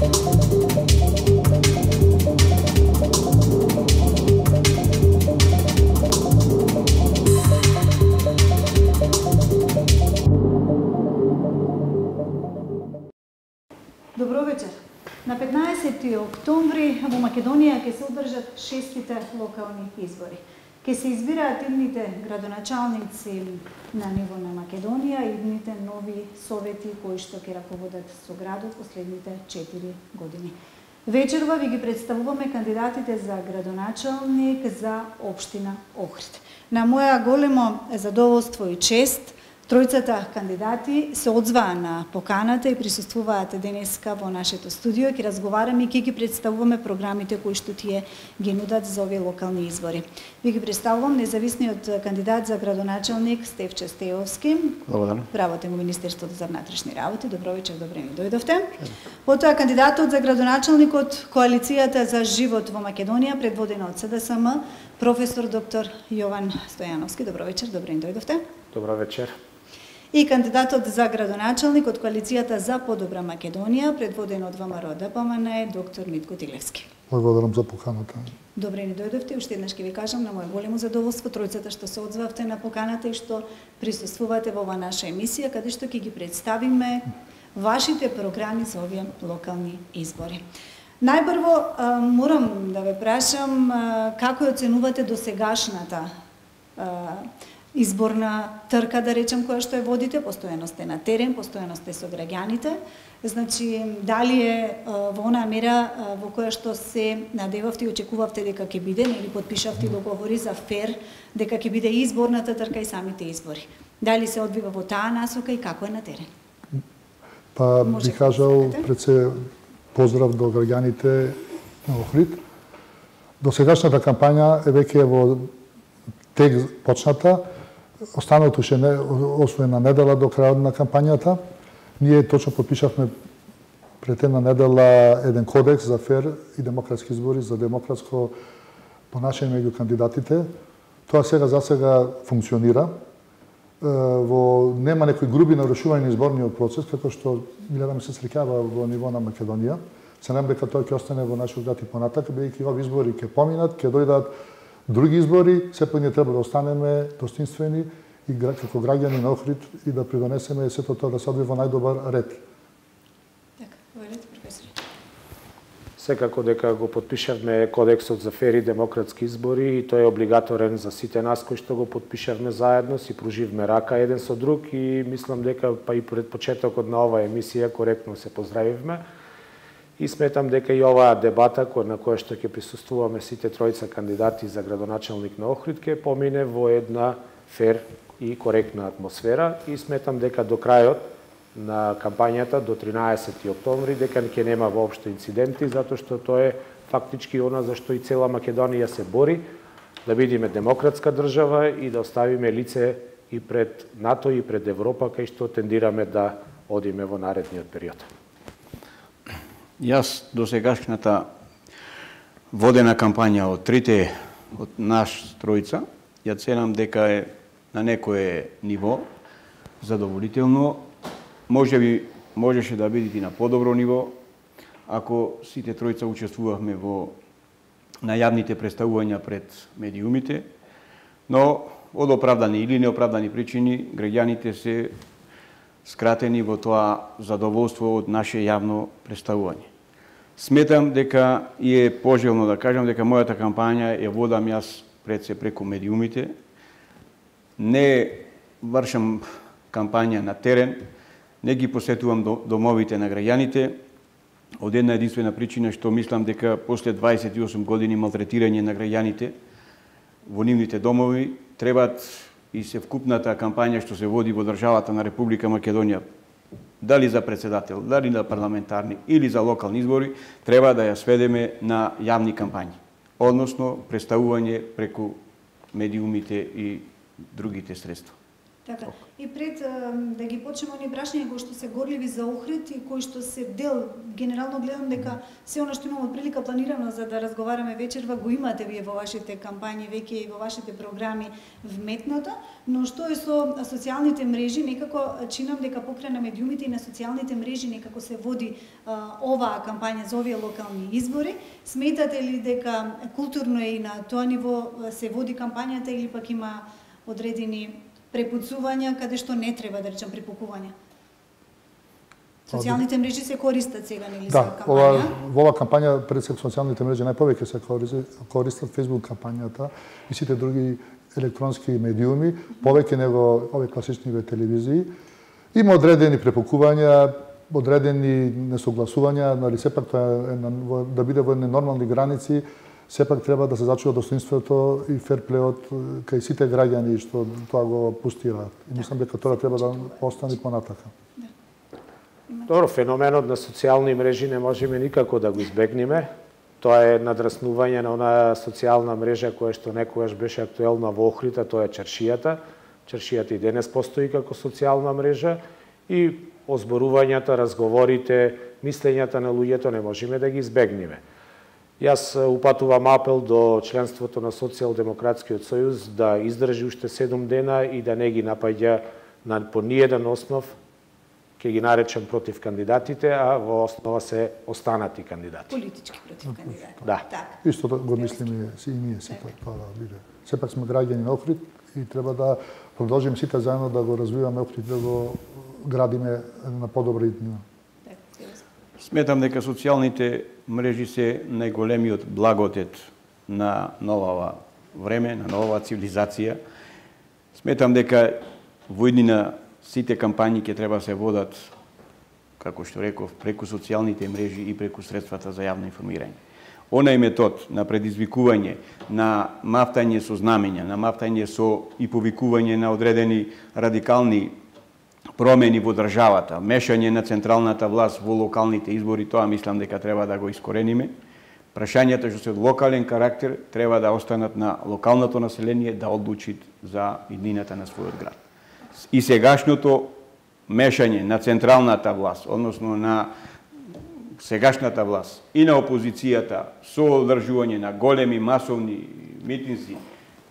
Добро вечер. На 15 октомври во Македонија ќе се одржат 6-тите локални избори. Ќе се избираат идните градоначалници на ниво на Македонија и идните нови совети кои што ќе раководат со градот последните 4 години. Вечерва ви ги представуваме кандидатите за градоначалник за општина Охрид. На моја големо задоволство и чест, тројцата кандидати се одзваа на поканата и присуствуваат денеска во нашето студио. Ќе разговараме и ќе ги представуваме програмите кои што тие ги нудат за овие локални избори. Ви ги представувам независниот кандидат за градоначалник Стефче Стеовски. Благодарам. Работен во Министерството за внатрешни работи. Добро вечер, добре ни дојдовте. Потоа кандидатот за градоначалник од Коалицијата за живот во Македонија, предводена од СДСМ, професор доктор Јован Стојановски. Добро вечер, добре ни дојдовте. Добро вечер. И кандидатот за градоначалник од Коалицијата за подобра Македонија, предводен од ВМРО ДПМН, доктор Митко Тилевски. Благодарам за поканата. Добре ни дојдовте, уште еднаш ќе ви кажам на мое големо задоволство тројцата што се одзвавте на поканата и што присуствувате во оваа наша емисија, каде што ќе ги представиме вашите програми за овие локални избори. Најпрво морам да ве прашам како оценувате досегашната изборна трка, да речем, која што ја водите, постојано сте на терен, постојано сте со граѓаните. Значи, дали е во онаа мера во која што се надевавте и очекувавте дека ќе биде, или потпишавте договори за фер, дека ќе биде изборната трка и самите избори? Дали се одвива во таа насока и како е на терен? Па би кажал пред се поздрав до граѓаните на Охрид. Досегашната кампања е веќе во тек почната. Останалото ше освоена недела до крајот на кампањата. Ние точно подпишавме пред една недела еден кодекс за фер и демократски избори, за демократско понашање меѓу кандидатите. Тоа за сега функционира. Нема некои груби нарушувања на изборниот процес, како што гледаме се среќава во ниво на Македонија. Се надам дека тоа ќе остане во нашиот град и понатака, бидејќи овие избори ќе поминат, ќе дојдат други избори, сепак ние треба да останеме достоинствени и како граѓани на Охрид и да придонесеме сето тоа да се одвива во најдобар ред. Така, војлете, професор. Секако дека го подпишавме кодексот за фер и демократски избори и тој е облигаторен за сите нас кои што го подпишавме заедно, си пруживме рака еден со друг и мислам дека па и пред почетокот на оваа емисија коректно се поздравивме. И сметам дека и оваа дебата на која што ќе присуствуваме сите тројца кандидати за градоначалник на Охрид ќе помине во една фер и коректна атмосфера и сметам дека до крајот на кампањата до 13 октомври дека ќе нема воопшто инциденти затоа што тоа е фактички она за што и цела Македонија се бори да бидеме демократска држава и да оставиме лице и пред НАТО и пред Европа кај што тендираме да одиме во наредниот период. Јас до сегашната водена кампања од трите од наш тројца, ја ценам дека е на некое ниво задоволително. Можеше да биде и на подобро ниво, ако сите тројца учествувавме на јавните представувања пред медиумите, но од оправдани или неоправдани причини граѓаните се скратени во тоа задоволство од наше јавно представување. Сметам дека е пожелно да кажам дека мојата кампања ја водам јас пред се преку медиумите. Не вршам кампања на терен, не ги посетувам домовите на граѓаните, од една единствена причина што мислам дека после 28 години малтретирање на граѓаните во нивните домови требат и се вкупната кампања што се води во државата на Република Македонија, дали за председател, дали на парламентарни или за локални избори, треба да ја сведеме на јавни кампањи, односно представување преку медиумите и другите средства. Така. И пред да ги почнеме оние прашања кои што се горливи за Охрид и кои што се дел, генерално гледам дека се она што имаме прилика планирано за да разговараме вечерва го имате вие во вашите кампањи, веќе и во вашите програми вметнато, но што е со социјалните мрежи, некако чинам дека покрај на медиумите и на социјалните мрежи некако се води оваа кампања за овие локални избори. Сметате ли дека културно и на тоа ниво се води кампањата или пак има одредени препуцувања каде што не треба да речам препукувања? Социјалните мрежи се користат сега нели за кампања? Во оваа кампања пред се социјалните мрежи најповеќе се користат Facebook кампањата и сите други електронски медиуми, повеќе него овие класични телевизии. Има одредени препукувања, одредени несогласувања, но сепак тоа да биде во нормални граници. Сепак треба да се зачува достоинството и ферплеот кај сите граѓани што тоа го пустираат. И мислам дека тоа треба да остане понатака. Добро, феноменот на социјални мрежи не можеме никако да го избегнеме. Тоа е надраснување на онаа социјална мрежа која што некогаш беше актуелна во Охрид, а тоа е чаршијата. Чаршијата и денес постои како социјална мрежа и озборувањата, разговорите, мислењата на луѓето не можеме да ги избегнеме. Јас упатувам апел до членството на Социјалдемократскиот сојуз да издржи уште 7 дена и да не ги напаѓа по ниеден основ, ќе ги наречам против кандидатите, а во основа се останати кандидати. Политички против кандидати. Да. Исто го мислиме и ние сите тоа да биде. Сепак сме граѓани на Охрид и треба да продолжиме сите заедно да го развиваме Охрид, да го градиме на подобра иднина. Сметам дека социјалните мрежи се најголемиот благодет на новава време, на новава цивилизација. Сметам дека во иднина сите кампањи ќе треба се водат, како што реков, преку социјалните мрежи и преку средствата за јавно информирање. Онај метод на предизвикување, на мафтање со знамења, на мафтање со и повикување на одредени радикални промени во државата, мешање на централната власт во локалните избори, тоа мислам дека треба да го искорениме. Прашањата што се од локален карактер треба да останат на локалното население да одлучи за иднината на својот град. И сегашното мешање на централната власт, односно на сегашната власт и на опозицијата со одржување на големи масовни митинзи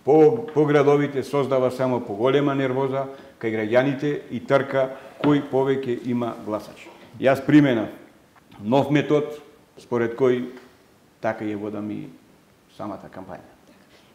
по градовите создава само поголема нервоза кај граѓаните и трка кој повеќе има гласачи. Јас применав нов метод според кој така ја водам и самата кампања.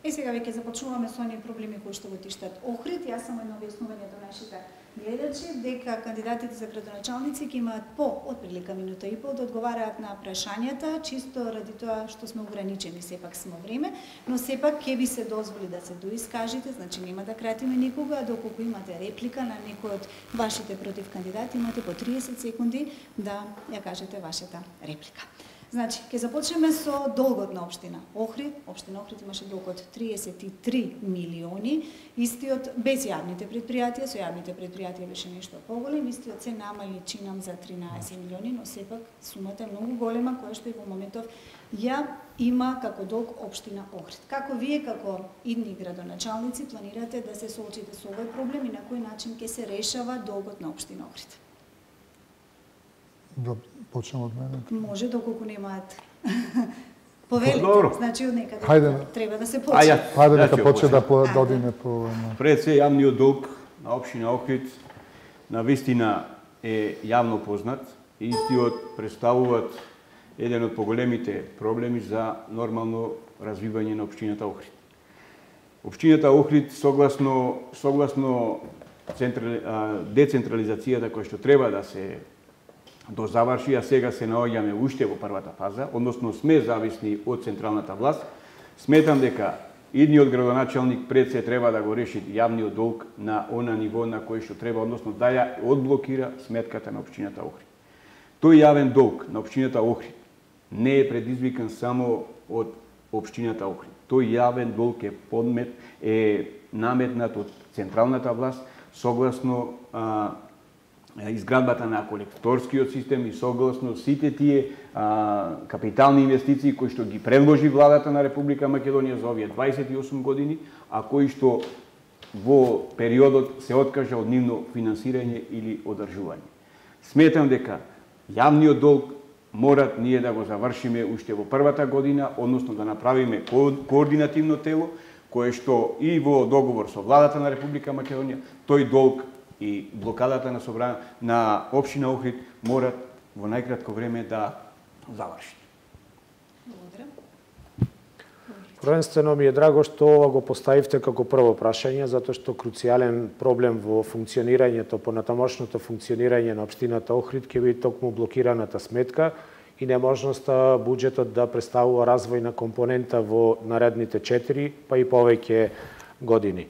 Сега веќе започнуваме со оние проблеми кои што го тиштат Охрид. Јас само едно објаснување до нашите гледачи дека кандидатите за градоначалници ќе имаат по отприлика минута и пол да одговараат на прашањата, чисто ради тоа што сме ограничени сепак смо време, но сепак ќе ви се дозволи да се доискажите, значи нема да кратиме никога, доколку имате реплика на некој од вашите против кандидати, имате по 30 секунди да ја кажете вашата реплика. Значи, ќе започнеме со долгот на општина Охрид. Општина Охрид имаше долг од 33 милиони. Истиот без јавните предпријатија, со јавните предпријатија беше нешто поголем, истиот се намали чинам за 13 милиони, но сепак сумата е многу голема, која што и во моментов ја има како долг општина Охрид. Како вие, како идни градоначалници, планирате да се соочите со овој проблем и на кој начин ќе се решава долгот на општина Охрид? Да почнем од мене. Може, доколку немаат повелите, значи од некаде треба да се почне. Хајде нека почне да одиме по... Пред се јавниот долг на општина Охрид на вистина е јавно познат и истиот представуваат еден од поголемите проблеми за нормално развивање на општината Охрид. Општината Охрид согласно децентрализацијата која што треба да се дозаврши, а сега се наоѓаме уште во првата фаза, односно сме зависни од централната власт, сметам дека идниот градоначалник пред се треба да го реши јавниот долг на она ниво на кој што треба, односно да ја одблокира сметката на општината Охрид. Тој јавен долг на општината Охрид не е предизвикан само од општината Охрид. Тој јавен долг е наметнат од централната власт согласно изградбата на колекторскиот систем и согласно сите тие капитални инвестиции кои што ги предложи владата на Република Македонија за овие 28 години, а кои што во периодот се откажа од нивно финансирање или одржување. Сметам дека јавниот долг мора ние да го завршиме уште во првата година, односно да направиме координативно тело, кое што и во договор со владата на Република Македонија, тој долг и блокадата на општина Охрид морат во најкратко време да заврши. Благодарам. Првенствено ми е драго што ова го поставивте како прво прашање, затоа што круцијален проблем во функционирањето, понатамошното функционирање на општината Охрид ќе биде токму блокираната сметка и неможноста буџетот да представува развојна компонента во наредните 4, па и повеќе години.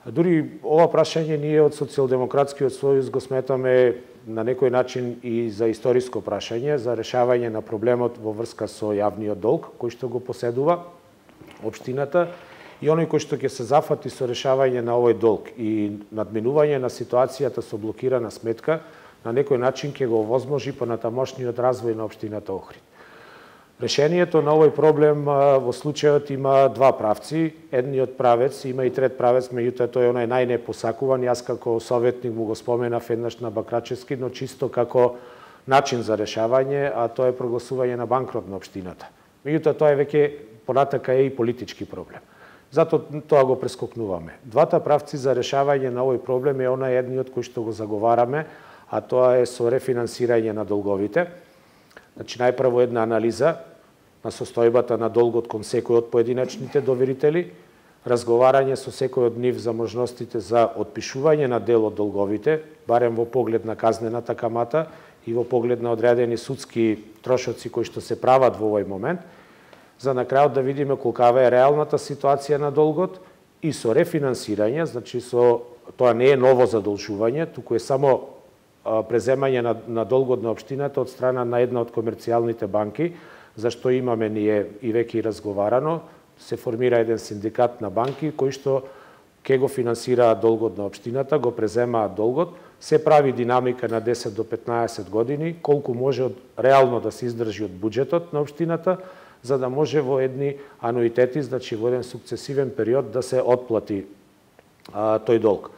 Дури ова прашање ние од Социјалдемократскиот сојуз го сметаме на некој начин и за историско прашање, за решавање на проблемот во врска со јавниот долг, кој што го поседува општината, и оној кој што ќе се зафати со решавање на овој долг и надминување на ситуацијата со блокирана сметка, на некој начин ќе го овозможи понатамошниот развој на општината Охрид. Решението на овој проблем во случајот има два правци. Едниот правец, има и трет правец, меѓутоа тој е онај најнепосакуван. Јас како советник му го споменав еднаш на Бакрачевски, но чисто како начин за решавање, а тоа е прогласување на банкрот на општината. Меѓутоа тоа е веќе понатака е и политички проблем. Затоа тоа го прескокнуваме. Двата правци за решавање на овој проблем е онај едниот кој што го заговараме, а тоа е со рефинансирање на долговите. Значи, најпрво една анализа на состојбата на долгот кон секој од поединечните доверители, разговарање со секој од нив за можностите за отпишување на дел од долговите, барем во поглед на казнената камата и во поглед на одредени судски трошоци кои што се прават во овој момент, за на крајот да видиме колкава е реалната ситуација на долгот и со рефинансирање, значи тоа не е ново задолжување, туку е само преземање на долгот на општината од страна на една од комерцијалните банки, зашто имаме ние и веќе разговарано, се формира еден синдикат на банки кои што ќе го финансираат долгот на општината, го преземаат долгот, се прави динамика на 10 до 15 години, колку може реално да се издржи од буџетот на општината, за да може во едни ануитети, значи во еден сукцесивен период да се отплати тој долг.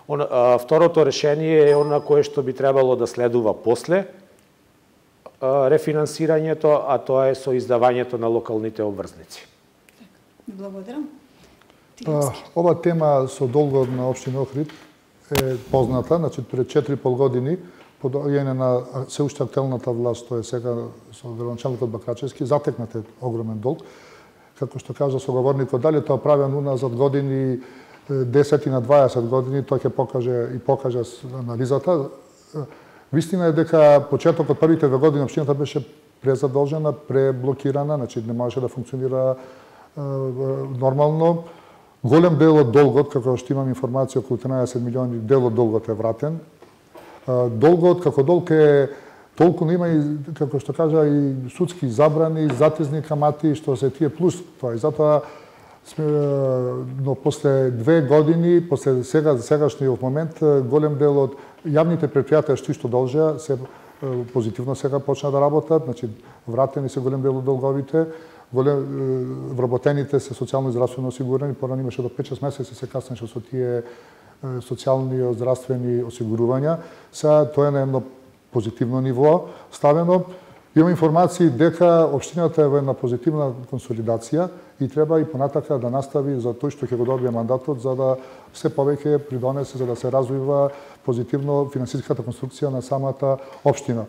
Второто решение е она кое што би требало да следува после рефинансирањето, а тоа е со издавањето на локалните обврзници. Благодарам. Ова тема со долгот на општина Охрид е позната, значи пред 4,5 години по доаѓање на се уште актуелната власт, тоа е сега со градоначалникот Бакрачевски, затекнате огромен долг. Како што кажа соговорникот, дали тоа правено уназад години, 10 на 20 години, тоа ќе покаже анализата. Вистина е дека почетокот првите 2 години општината беше презадолжена, преблокирана, значи не можеше да функционира нормално. Голем дел од долгот, како што имам информација, околу 13 милиони, дел од долгот е вратен. Долгот како долг е толку, има и, како што кажа, и судски забрани, затезни камати, што се тие плюс тоа. И затоа но после 2 години, после сегашниот момент, голем дел од јавните предпријатија што должеа се позитивно сега почна да работат, значи вратени се голем дел од долговите, вработените се социјално и здравствено осигурени, порано имаше до 5-6 месеци се каснеше со тие социјални и здравствени осигурувања. Сега тоа е на едно позитивно ниво ставено. Имам информации дека општината е во една позитивна консолидација и треба и понатака да настави за тој што ќе го добие мандатот, за да се повеќе придонесе, за да се развива позитивно финансиската конструкција на самата општина.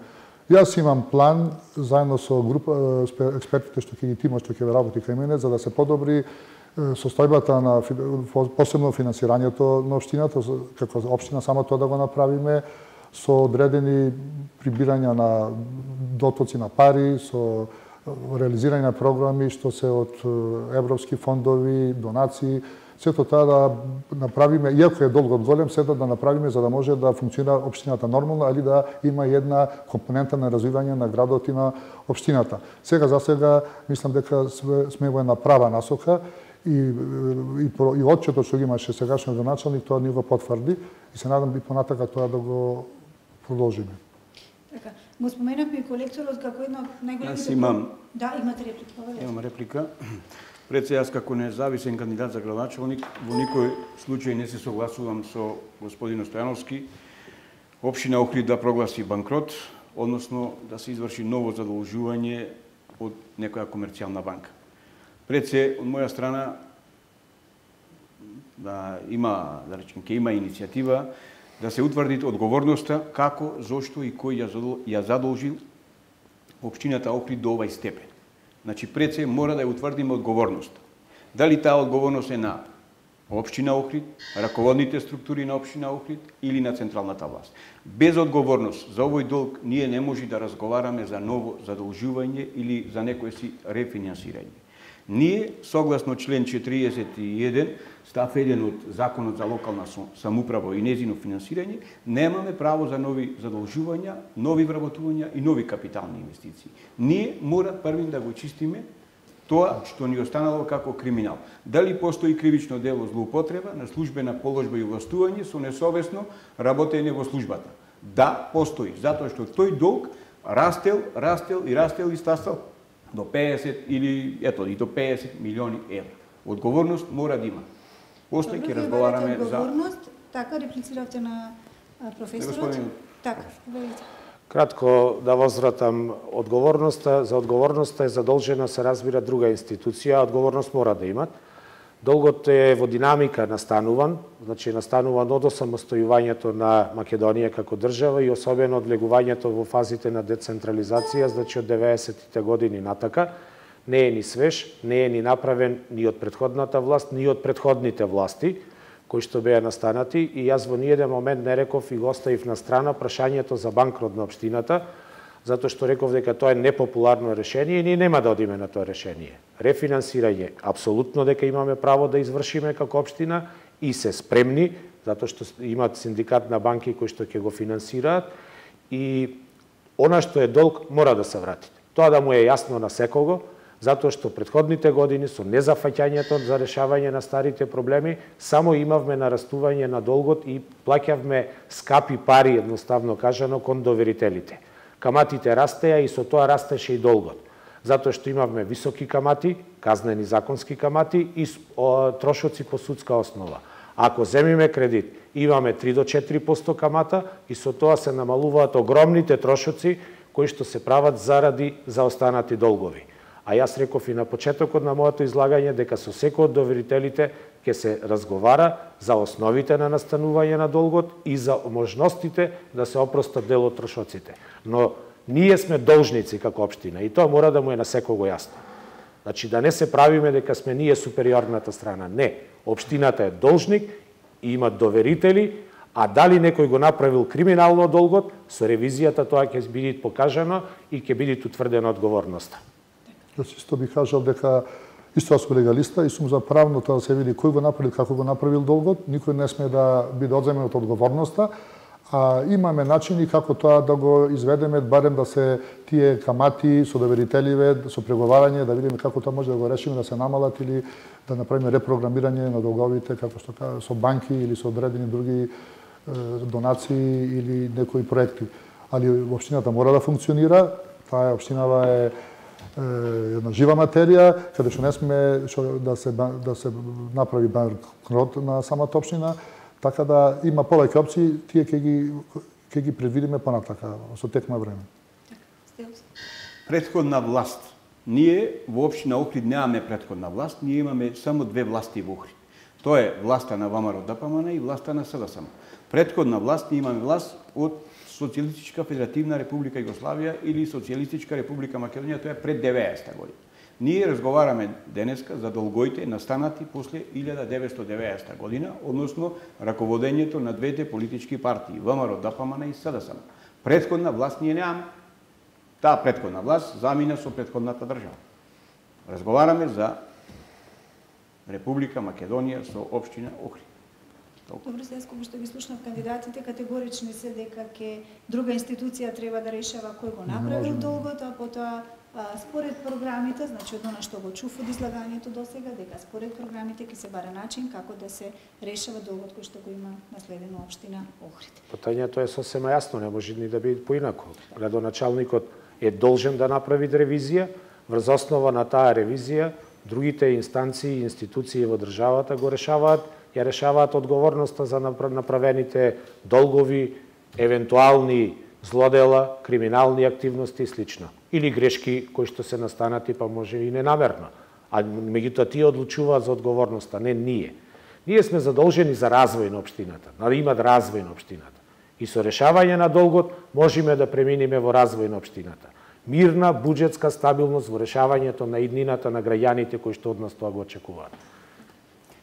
Јас имам план, заедно со група експертите што ќе ги тимот, што ќе работи кај мене, за да се подобри состојбата на посебно финансирањето на општината, како општина само тоа да го направиме, со одредени прибирања на дотоци на пари, со реализирање на програми што се од европски фондови, донации, сето тоа да направиме, иако е долгот голем, сето да направиме за да може да функционира општината нормално, али да има една компонента на развивање на градот и на општината. За сега мислам дека сме во една права насока и отчетот што ги имаше сегашниот градоначалник, тоа ни го потврди и се надам и понатака тоа да го продолжиме. Така, го споменавме и колекторот како една од најголемите... Јас имам... Да, имате реплика. Имам реплика. Пред се, јас како независен кандидат за градоначалник, во никој случај не се согласувам со господин Стојановски, општина Охрид да прогласи банкрот, односно да се изврши ново задолжување од некоја комерцијална банка. Пред се, од моја страна, да има, да речем, ќе има иницијатива да се утврди одговорноста како, зошто и кој ја задолжил општината Охрид до овај степен. Значи, пред се мора да ја утврдиме одговорноста. Дали таа одговорност е на општина Охрид, раководните структури на општина Охрид или на централната власт. Без одговорност за овој долг ние не може да разговараме за ново задолжување или за некое си рефинансирање. Ние, согласно член 41, став 1 од Законот за локална самоуправа и незино финансирање, немаме право за нови задолжувања, нови вработувања и нови капитални инвестиции. Ние мора првим да го чистиме тоа што ни останало како криминал. Дали постои кривично дело злоупотреба на службена положба и властување со несовесно работење во службата? Да, постои, затоа што тој долг растел и стасал до 50 или и до 50 милиони евра. Одговорност мора да има. После ќе разговараме за одговорност. Така реплициравте на професорот. Така, велите. Кратко да возвратам одговорноста. За одговорноста е задолжена се разбира друга институција, одговорност мора да имат. Долгот е во динамика настануван, значи настануван од осамостојувањето на Македонија како држава и особено од влегувањето во фазите на децентрализација, значи од 90-тите години натака. Не е ни свеж, не е ни направен ни од претходната власт, ни од претходните власти, кои што беа настанати, и јас во ниеден момент не реков и го оставив на страна прашањето за банкрот на општината, затоа што реков дека тоа е непопуларно решение и ние нема да одиме на тоа решение. Рефинансирање, апсолутно дека имаме право да извршиме како општина и се спремни, затоа што имат синдикат на банки кои што ќе го финансираат, и она што е долг мора да се врати. Тоа да му е јасно на секого, затоа што претходните години со незафаќањето за решавање на старите проблеми само имавме нарастување на долгот и плаќавме скапи пари, едноставно кажано, кон доверителите. Каматите растеа и со тоа растеше и долгот. Затоа што имавме високи камати, казнени законски камати и трошоци по судска основа. Ако земиме кредит, имаме 3 до 4% камата и со тоа се намалуваат огромните трошоци кои што се прават заради заостанати долгови. А јас реков и на почетокот на моето излагање дека со секој од доверителите ќе се разговара за основите на настанување на долгот и за можностите да се опростат дел од трошоците. Но ние сме должници како општина и тоа мора да му е на секого јасно. Значи да не се правиме дека сме ние супериорната страна. Не, општината е должник и има доверители, а дали некој го направил криминално долгот, со ревизијата тоа ќе биде покажано и ќе биде утврдена одговорноста. Јас исто би кажал дека исто сум легалиста и сум за правно тоа да се види кој го направил, како го направил долгот, никој не сме да биде одземен од одговорноста, а имаме начини како тоа да го изведеме, барем да се тие камати со доверителиве, со преговарање, да видиме како тоа може да го решиме, да се намалат или да направиме репрограмирање на долговите, како што кажа, со банки или со одредени други донации или некои проекти. Али општината мора да функционира, таа општинава е една жива материја, каде што не сме да се направи банкрот на самата општина, така да има повеќе опции, тие ќе ги предвидиме понатака со тек на време. Претходна власт. Ние во општина Охрид немаме претходна власт, ние имаме само две власти во Охрид. Тоа е власта на ВМРО ДПМН и власта на СДСМ. Претходна власт ние имаме власт од Социјалистичка Федеративна Република Југославија или Социјалистичка Република Македонија, тоа е пред 90-та година. Ние разговараме денеска за долгоите настанати после 1990 година, односно раководењето на двете политички партии, ВМРО ДПМН и СДСМ. Претходна власт ние немаме. Таа претходна власт замина со претходната држава. Разговараме за Република Македонија со општина Охрид. Добро, сега кога што ги слушнав кандидатите, категорични се дека ќе друга институција треба да решава кој го направил долгот, а потоа според програмите, значи од она што го чув од излагањето досега, дека според програмите ќе се баре начин како да се решава долгот кој што го има наследено општина Охрид. Питањето е сосема јасно, не може ни да биде поинако. Градоначалникот е должен да направи ревизија, врз основа на таа ревизија другите инстанции и институции во државата го решаваат одговорноста за направените долгови, евентуални злодела, криминални активности и слично. Или грешки кои што се настанати, па може и ненамерно. А меѓутоа тие одлучуваат за одговорноста, не ние. Ние сме задолжени за развој на општината, да имат развој на општината. И со решавање на долгот можеме да преминиме во развој на општината. Мирна, буџетска стабилност во решавањето на иднината на граѓаните кои што од нас тоа го очекуваат.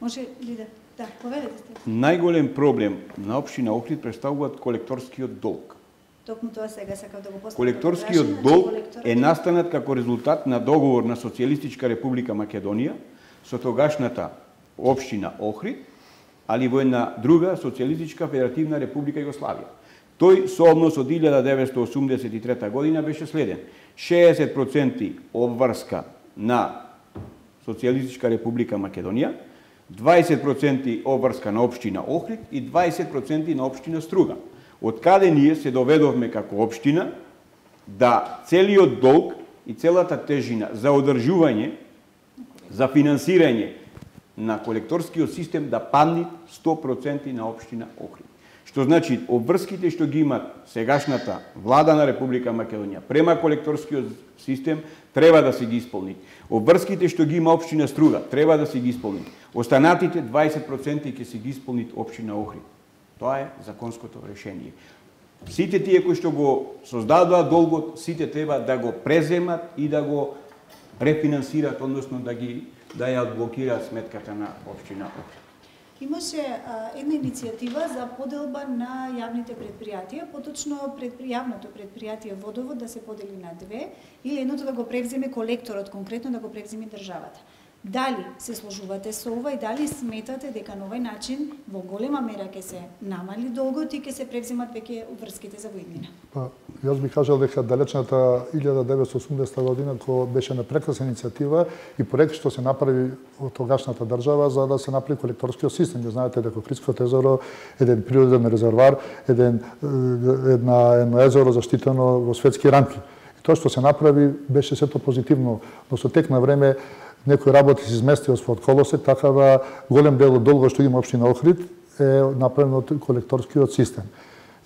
Може ли да поведете сте? Најголем проблем на општина Охрид представуваат колекторскиот долг. Токму тоа сега сакав да го поставам. Колекторскиот долг е настанат како резултат на договор на Социјалистичка република Македонија со тогашната општина Охрид, али во една друга Социјалистичка федеративна република Југославија. Тој со однос од 1983 година беше следен. 60% обврска на Социјалистичка република Македонија, 20% обврска на општина Охрид и 20% на општина Струга. Од каде ние се доведовме како општина да целиот долг и целата тежина за одржување, за финансирање на колекторскиот систем да падне 100% на општина Охрид. Што значи, обврските што ги имат сегашната влада на Република Македонија према колекторскиот систем треба да се ги исполни. Обврските што ги има општина Струга треба да се ги исполни. Останатите 20% ќе се ги исполни општина Охрид. Тоа е законското решение. Сите тие кои што го создадоа долгот, сите треба да го преземат и да го рефинансират, односно да ја одблокираат сметката на општина Охрид. Имаше една иницијатива за поделба на јавните предпријатија, поточно јавното предпријатие Водовод да се подели на две, или едното да го превземе колекторот, конкретно да го превземе државата. Дали се сложувате со ова и дали сметате дека на овој начин во голема мера ќе се намали долгот и ќе се превземат веќе врските за воиднина? Па, јас би кажал дека далечната 1980 година, кога беше на прекрасна иницијатива и проект што се направи од тогашната држава за да се направи колекторскиот систем. Знаете дека Охридското езеро е еден природен резервар, едно езеро заштитено во светски рамки. И тоа што се направи беше сето позитивно, но со тек на време некои работи се изместија од колосек, така да голем дел од долгот што има општина Охрид е направено од колекторскиот систем.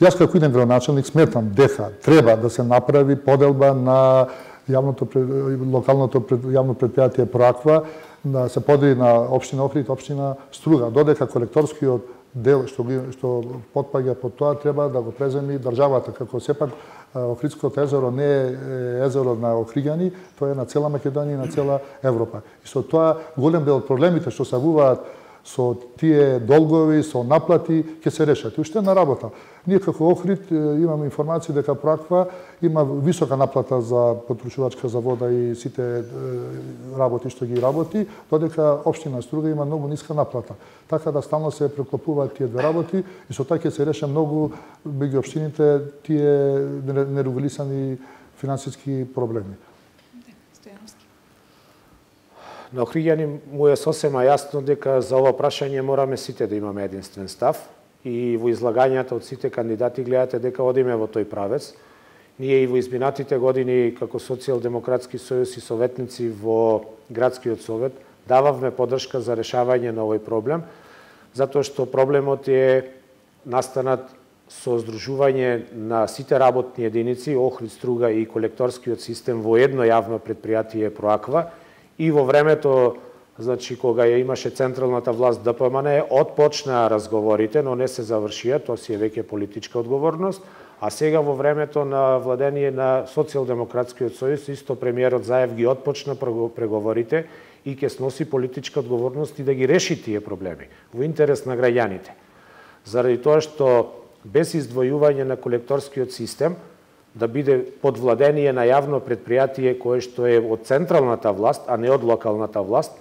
Јас како иден градоначалник сметам дека треба да се направи поделба на локалното јавно предпријатие Проаква, да се подели на општина Охрид, општина Струга, додека колекторскиот дел што потпаѓа под тоа треба да го преземи државата, како сепак Охридското езеро не е езеро на охриѓани, тоа е на цела Македонија и на цела Европа. И со тоа голем дел од проблемите што се авуваат со тие долгови, со наплати, ќе се решат. И уште една работа. Ние како Охрид имаме информации дека Проаква има висока наплата за потрушувачка за вода и сите работи што ги работи, додека општина Струга има многу ниска наплата. Така да стално се преклопуваат тие две работи и со тоа ќе се реше многу меѓу општините тие нерегулисани финансиски проблеми. На Охриѓани му е сосема јасно дека за ова прашање мораме сите да имаме единствен став и во излагањата од сите кандидати гледате дека одиме во тој правец. Ние и во изминатите години како Социјалдемократски сојуз и советници во Градскиот совет дававме поддршка за решавање на овој проблем, затоа што проблемот е настанат со здружување на сите работни единици, Охрид, Струга и колекторскиот систем во едно јавно предпријатие Проаква. И во времето, значи, кога ја имаше централната власт ДПМН, отпочнаа разговорите, но не се завршија, тоа си е веќе политичка одговорност, а сега во времето на владение на Социјалдемократскиот сојуз, исто премиерот Заев ги отпочна преговорите и ќе сноси политичка одговорност и да ги реши тие проблеми во интерес на граѓаните. Заради тоа што без издвојување на колекторскиот систем, да биде под владение на јавно предпријатие кое што е од централната власт, а не од локалната власт,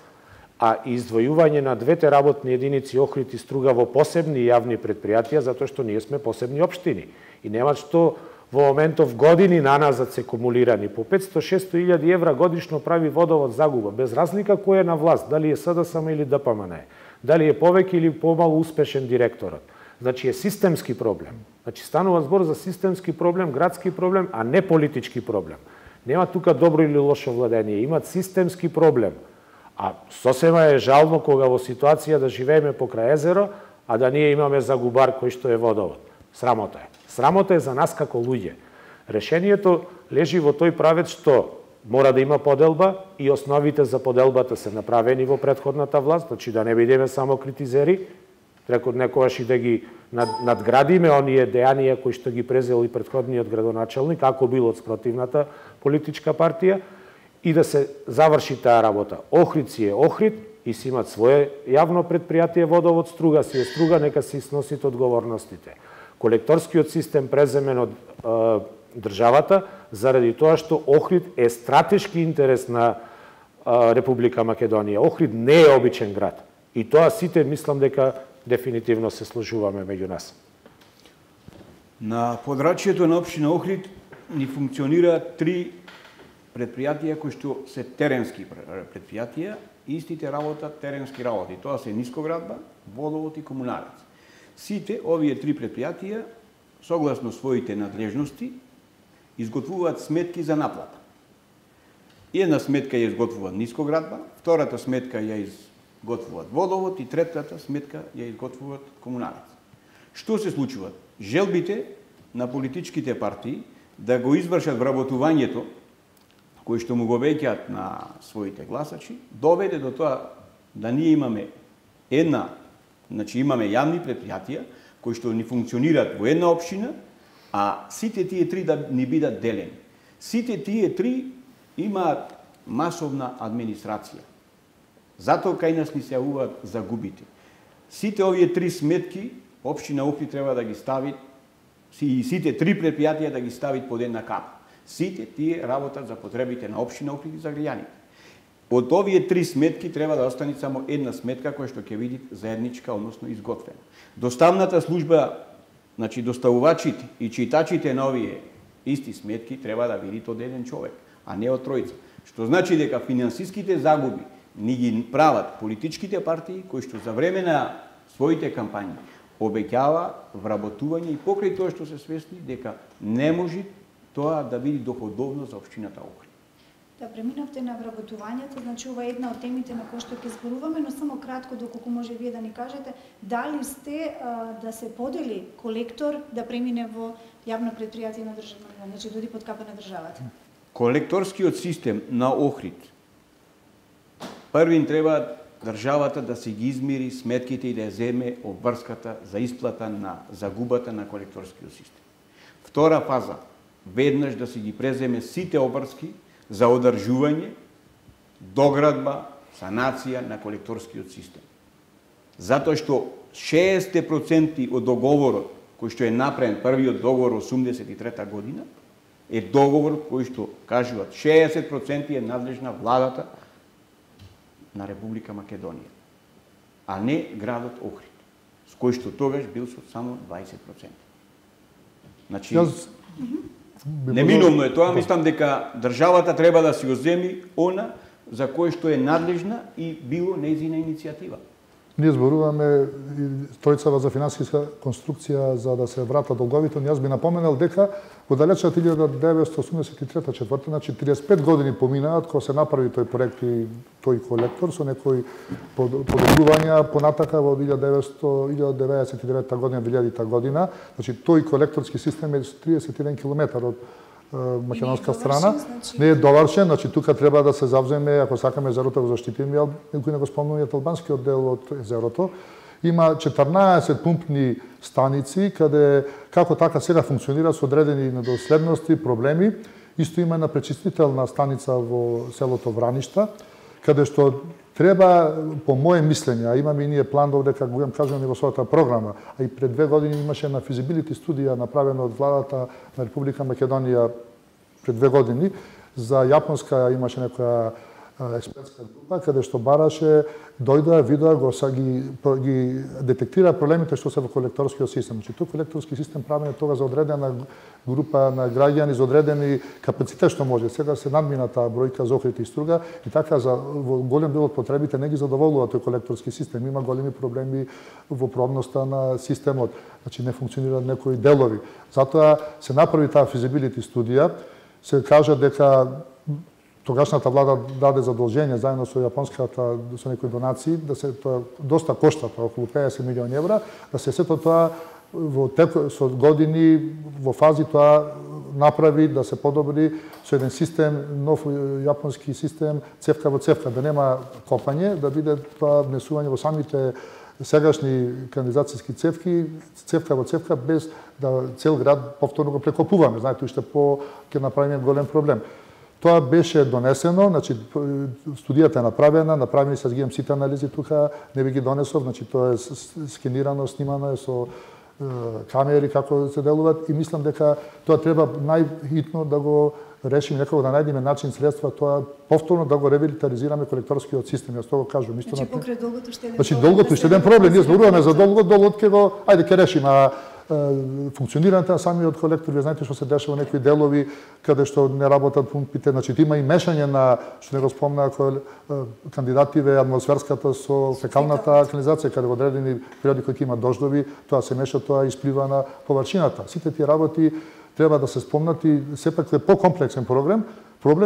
а издвојување на двете работни единици Охрид и Струга во посебни јавни предпријатија, затоа што ние сме посебни општини. И нема што во моментов години наназад се кумулирани. По 500-600 илјади евра годишно прави Водовод загуба, без разлика кој е на власт, дали е СДСМ или ДПМН, дали е повеќе или помалку успешен директорот. Значи е системски проблем. Значи станува збор за системски проблем, градски проблем, а не политички проблем. Нема тука добро или лошо владение, имат системски проблем. А сосема е жално кога во ситуација да живееме покрај езеро, а да ние имаме загубар кој што е водовод. Срамота е. Срамота е за нас како луѓе. Решението лежи во тој правец што мора да има поделба и основите за поделбата се направени во претходната власт, значи да не бидеме само критизери, некогаш и да ги надградиме оние дејанија кои што ги презел и претходниот градоначелник, ако бил од спротивната политичка партија, и да се заврши таа работа. Охрид си е Охрид и си имат свое јавно предпријатие водовод, Струга си е Струга, нека се сносите одговорностите. Колекторскиот систем преземен од државата, заради тоа што Охрид е стратешки интерес на Република Македонија. Охрид не е обичен град. И тоа сите мислам дека дефинитивно се сложуваме меѓу нас. На подрачјето на општина Охрид ни функционира 3 предпријатија кои што се теренски предпријатија, истите работат теренски работи. Тоа се нискоградба, водовод и комуналец. Сите овие 3 предпријатија, согласно своите надлежности, изготвуваат сметки за наплата. Една сметка ја изготвува нискоградба, втората сметка ја изготвуваат водовод и третата сметка ја изготвуваат комуналец. Што се случува? Желбите на политичките партии да го извршат вработувањето кои што му го веќаат на своите гласачи, доведе до тоа да ние имаме имаме јавни предпријатија кои што ни функционираат во една општина, а сите тие 3 да ни бидат делени. Сите тие 3 имаат масовна администрација. Затоа кај нас ни се јавуваат загубите. Сите овие 3 сметки општина Охрид треба да ги стави, и сите 3 предпријатија да ги стави под една капа. Сите тие работат за потребите на општина Охрид и за граѓаните. Од овие 3 сметки треба да остане само една сметка која што ќе биде заедничка, односно изготвена. Доставната служба, значи доставувачите и читачите на овие исти сметки треба да видат од еден човек, а не од тројца. Што значи дека финансиските загуби ни ги прават политичките партии кои што за време на своите кампањи обеќава вработување и покрај тоа што се свесни дека не може тоа да биде доходовно за општината Охрид. Да преминавте на вработувањето, значи ова е една од темите на кои што ќе зборуваме, но само кратко доколку може вие да ни кажете, дали сте да се подели колектор да премине во јавно предпријатие на државата, значи доди под капа на државата? Колекторскиот систем на Охрид првин треба државата да си ги измери сметките и да ја земе обврската за исплата на загубата на колекторскиот систем. Втора фаза, веднаш да си ги преземе сите обврски за одржување, доградба, санација на колекторскиот систем. Затоа што 60% од договорот кој што е направен, првиот договор 83 година, е договор кој што кажуваат 60% е надлежна владата на Република Македонија, а не градот Охрид, с кој што тогаш бил со само 20%. Значи, неминовно е тоа, мислам дека државата треба да си го земи она за кој што е надлежна и било нејзина иницијатива. Ние зборуваме тројцава за финансиска конструкција за да се врата долговите, но јас би напоменал дека во далечната 1983-4, значи 35 години поминаат кога се направи тој проект и тој колектор со некои подобрувања понатака во 1999 година, 2000 година, значи тој колекторски систем е 31 километар од македонска страна, не е довршен, значи тука треба да се завземе, ако сакаме езерото го заштитиме, некој не го спомнуваат албанскиот дел од езерото. Има 14 пумпни станици, каде како така сега функционира со одредени недоследности, проблеми. Исто има една пречистителна станица во селото Враништа, каде што треба, по моје мислење, а имаме и ние план овде, како го кажуваме во својата програма, а и пред 2 години имаше една физибилити студија направена од владата на Република Македонија пред 2 години, за Јапонска имаше некоја експертска група, каде што бараше, дојдоа, видоа, ги детектира проблемите што се во колекторскиот систем. Значи, тој колекторски систем правен е тога за одредена група на граѓани, за одредени капацитет што може. Сега се надмина таа бројка за Охрид и Струга и така во голем дел од потребите не ги задоволува тој колекторски систем. Има големи проблеми во пробноста на системот. Значи, не функционираат некои делови. Затоа се направи таа физибилити студија, се кажа дека тогашната влада даде задолжение заедно со јапонската, со некои донации, да се тоа доста кошта, тоа околу 50 милиони евра, да се сето тоа во со години, во фази тоа направи, да се подобри со еден систем, нов јапонски систем, цевка во цевка, да нема копање, да биде тоа внесување во самите сегашни канализацијски цевки, цевка во цевка, без да цел град повторно го прекопуваме. Знаете, уште ќе направиме голем проблем. Тоа беше донесено, значи студијата е направени се, гиам сите анализи тука, не би ги донесов, значи тоа е скенирано, снимано е со камери како се делуваат и мислам дека тоа треба најхитно да го решиме, некако да најдеме начин, средства, тоа повторно да го ревитализираме колекторскиот систем. Јас тоа го кажувам исто. Значи покрај долгото уште еден. Значи долгото уште еден проблем, ние зборуваме за долгот ќе го, ајде ќе решиме, функционирањето на самиот колектор, вие знаете што се дешава во некои делови каде што не работат пумпите, значи има и мешање на, што не го спомна кандидативе, атмосферската со фекалната канализација, каде во одредени периоди кои има дождови, тоа се меша, тоа исплива на површината. Сите тие работи треба да се спомнати, сепак е покомплексен проблем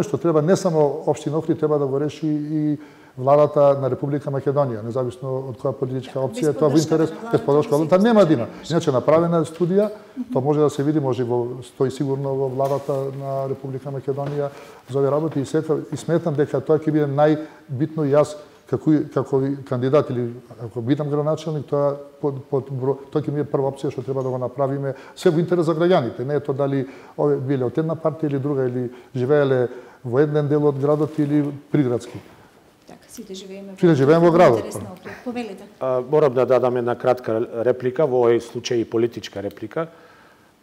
што треба не само општина Охрид, треба да го реши и владата на Република Македонија, независно од која политичка опција, тоа во интерес без подршка владата нема да има. Иначе направена студија, тоа може да се види, може стои сигурно во владата на Република Македонија за овие работи и сметам дека тоа ќе биде најбитно и јас како кандидат или ако бидам градоначелник, тоа ќе ми е прва опција што треба да го направиме се во интерес за граѓаните. Не е тоа дали овие биле од една партија или друга или живееле во еден дел од градот или приградски. Сите живееме во градот. Повелите. Морам да дадам една кратка реплика, во овој случај и политичка реплика.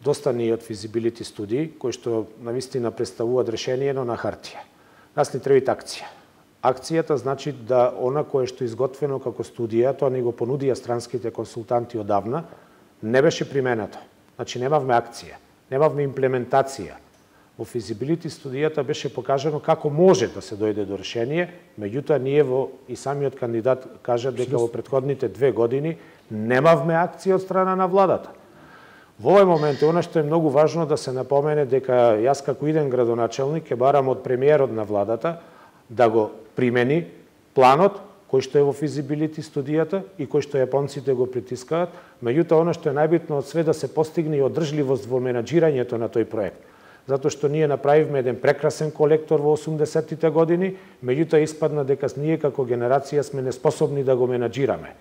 Доста ни од физибилити студии, кои што навистина представуваат решение, но на хартија. Нас ни треба акција. Акцијата значи да она кое што е изготвено како студија, тоа ни го понудија странските консултанти одавна, не беше применато. Значи немавме акција, немавме имплементација. Во физибилити студијата беше покажано како може да се дојде до решение, меѓутоа ние и самиот кандидат кажа дека во претходните 2 години немавме акција од страна на владата. Во овој момент она што е многу важно да се напомене дека јас како иден градоначелник ќе барам од премиерот на владата да го примени планот кој што е во физибилити студијата и кој што јапонците го притискаат, меѓутоа она што е најбитно од све да се постигне и одржливост во менаџирањето на тој проект. Затоа што ние направивме еден прекрасен колектор во 80-тите години, меѓутоа испадна дека ние како генерација сме неспособни да го менаџираме.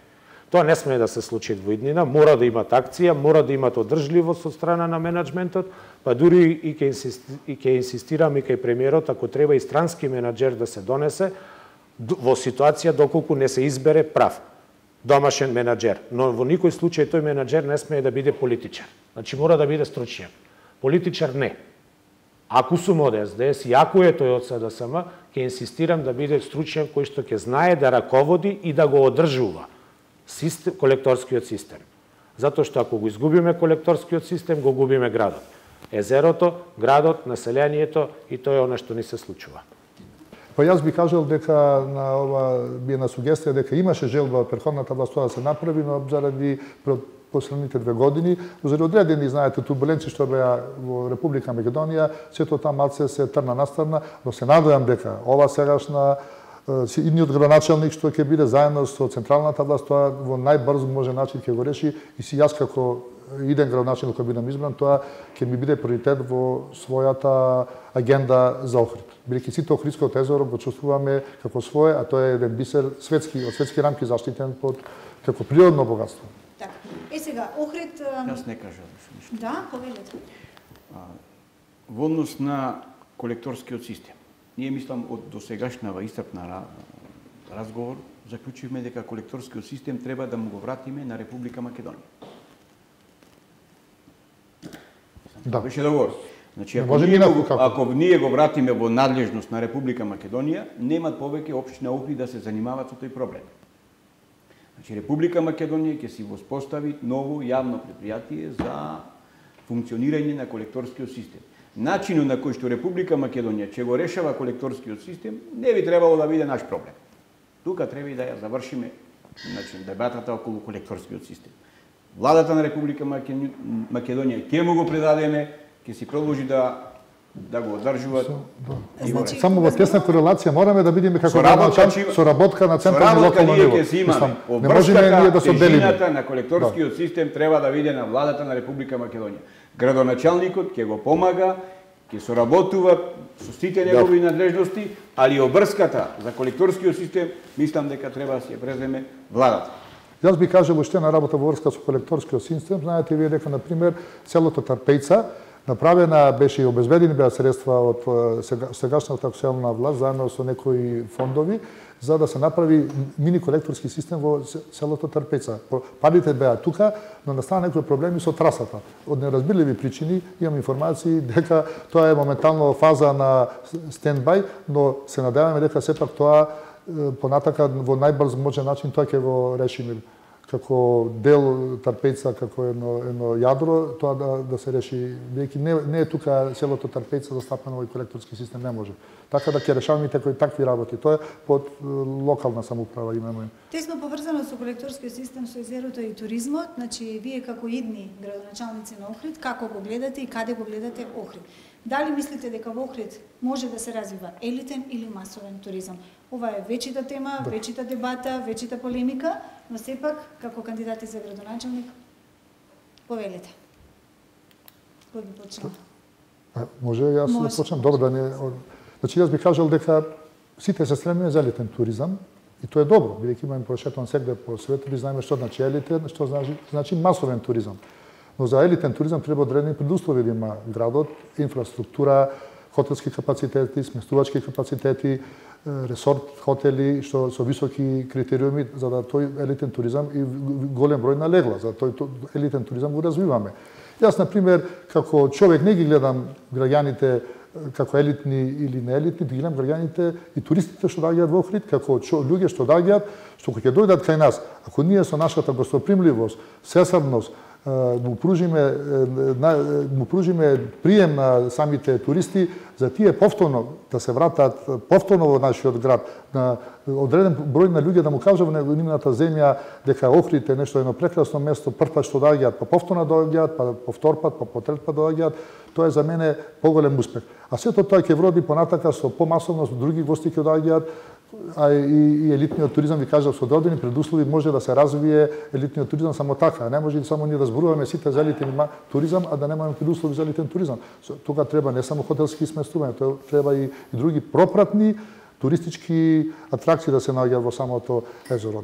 Тоа не сме да се случи во иднина, мора да имат акција, мора да имат одржливост од страна на менаџментот, па дури и ќе инсистираме кај премиерот, ако треба и странски менаџер да се донесе, во ситуација доколку не се избере прав домашен менаџер. Но во никој случај тој менаџер не смее да биде политичар. Значи мора да биде стручњак. Политичар не. Ако сум од СДС и ако е тој од СДСМ, ќе инсистирам да биде стручњак кој што ќе знае да раководи и да го одржува колекторскиот систем. Затоа што ако го изгубиме колекторскиот систем, го губиме градот. Езерото, градот, населението и тоа е она што ни се случува. Па јас би кажал дека на ова би една сугестија дека имаше желба од претходната власт тоа да се направи, но заради последните 2 години, заради одредени, знаете, турбуленции што беа во Република Македонија, сето таа малце се трна настарна, но се надевам дека ова сегашна идниот градоначелник што ќе биде заедно со централната власт, тоа во најбрз може начин ќе го реши и си јас како иден градоначелник кој бидам избран, тоа ќе ми биде приоритет во својата агенда за Охрид. Бидејќи сите Охридското езеро го чувствуваме како свое, а тоа е еден бисер светски, од светски рамки заштитен како природно богатство. Така. Сега Охрид Јас не кажам ништо. Да, повелете. Во однос на колекторскиот систем. Ние мислам од досегашнава истрпна разговор заклучивме дека колекторскиот систем треба да му го вратиме на Република Македонија. Да. Беше договор. Значи, ако ние го вратиме во надлежност на Република Македонија, немат повеќе општина Охрид да се занимаваат со тој проблем. Значи, Република Македонија ќе си воспостави ново јавно предпријатие за функционирање на колекторскиот систем. Начинот на кој што Република Македонија ќе го решава колекторскиот систем не би требало да биде наш проблем. Тука треба и да ја завршиме дебатата околу колекторскиот систем. Владата на Република Македонија ќе му го предадеме, ќе си продолжи да да го одржуваат. Само во тесна корелација мораме да видиме како соработка на централно и локално ниво. Не можеме ние да се одделиме. На колекторскиот систем треба да биде на владата на Република Македонија. Градоначалникот ќе го помага, ќе соработува со сите негови надлежности, али обрската за колекторскиот систем мислам дека треба да се преземе владата. Јас би кажал уште на работа во врска со колекторскиот систем, знаете вие дека на пример селото Тарпејца направена беше и обезбедени беа средства од сегашната акционална власт заедно со некои фондови за да се направи мини колекторски систем во селото Тарпејца. Парите беа тука, но настана некои проблеми со трасата. Од неразбирливи причини имам информации дека тоа е моментално фаза на стендбај, но се надеваме дека сепак тоа понатака во најбрз можен начин тоа ќе го решиме како дел Тарпејца, како едно јадро, тоа да се реши, бидејќи не е тука селото Тарпејца застапено во колекторски систем, не може. Така да ќе решаваме такви работи. Тоа е под локална самоуправа имаме. Тесно поврзано со колекторскиот систем со езерото и туризмот, значи вие како идни градоначалници на Охрид, како го гледате и каде го гледате Охрид? Дали мислите дека во Охрид може да се развива елитен или масовен туризам? Ова е вечита тема, вечита дебата, вечита полемика, но сепак, како кандидати за градоначалник, повелете. Кој би почнал? Може јас да почнам? Добро да не... Значи, јас би кажал дека сите се стремиме за елитен туризам и тоа е добро, бидејќи имаме прошетан сегде по светот и знаеме што значи елитен, што значи масовен туризам. Но за елитен туризам треба одредени предуслови да има градот, инфраструктура, хотелски капацитети, сместувачки капацитети, ресорт хотели што со високи критериуми за да тој елитен туризам и голем број на легла, за тој елитен туризам го развиваме. Јас на пример како човек не ги гледам граѓаните како елитни или неелитни, ги гледам граѓаните и туристите што доаѓаат во Охрид, како луѓе што доаѓаат, што ќе дојдат кај нас. Ако ние со нашата гостопримливост, сесарност, му пружиме прием на самите туристи, за тие повторно да се вратат повторно во нашиот град, на одреден број на луѓе да му кажат во нивната земја дека Охрид е нешто едно прекрасно место, прв пат што доаѓаат, па повторно доаѓаат, па по втор пат, па по трет пат доаѓаат, тоа е за мене поголем успех. А сето тоа ќе вроди понатака со помасовност, други гости ќе доаѓаат, а и елитниот туризам, ви кажав, со одредени предуслови може да се развие елитниот туризам само така. Не може само ние да зборуваме сите за елитен туризам, а да немаме предуслови за елитен туризам. Тука треба не само хотелски сместувања, тоа треба и други пропратни туристички атракции да се наоѓаат во самото езеро.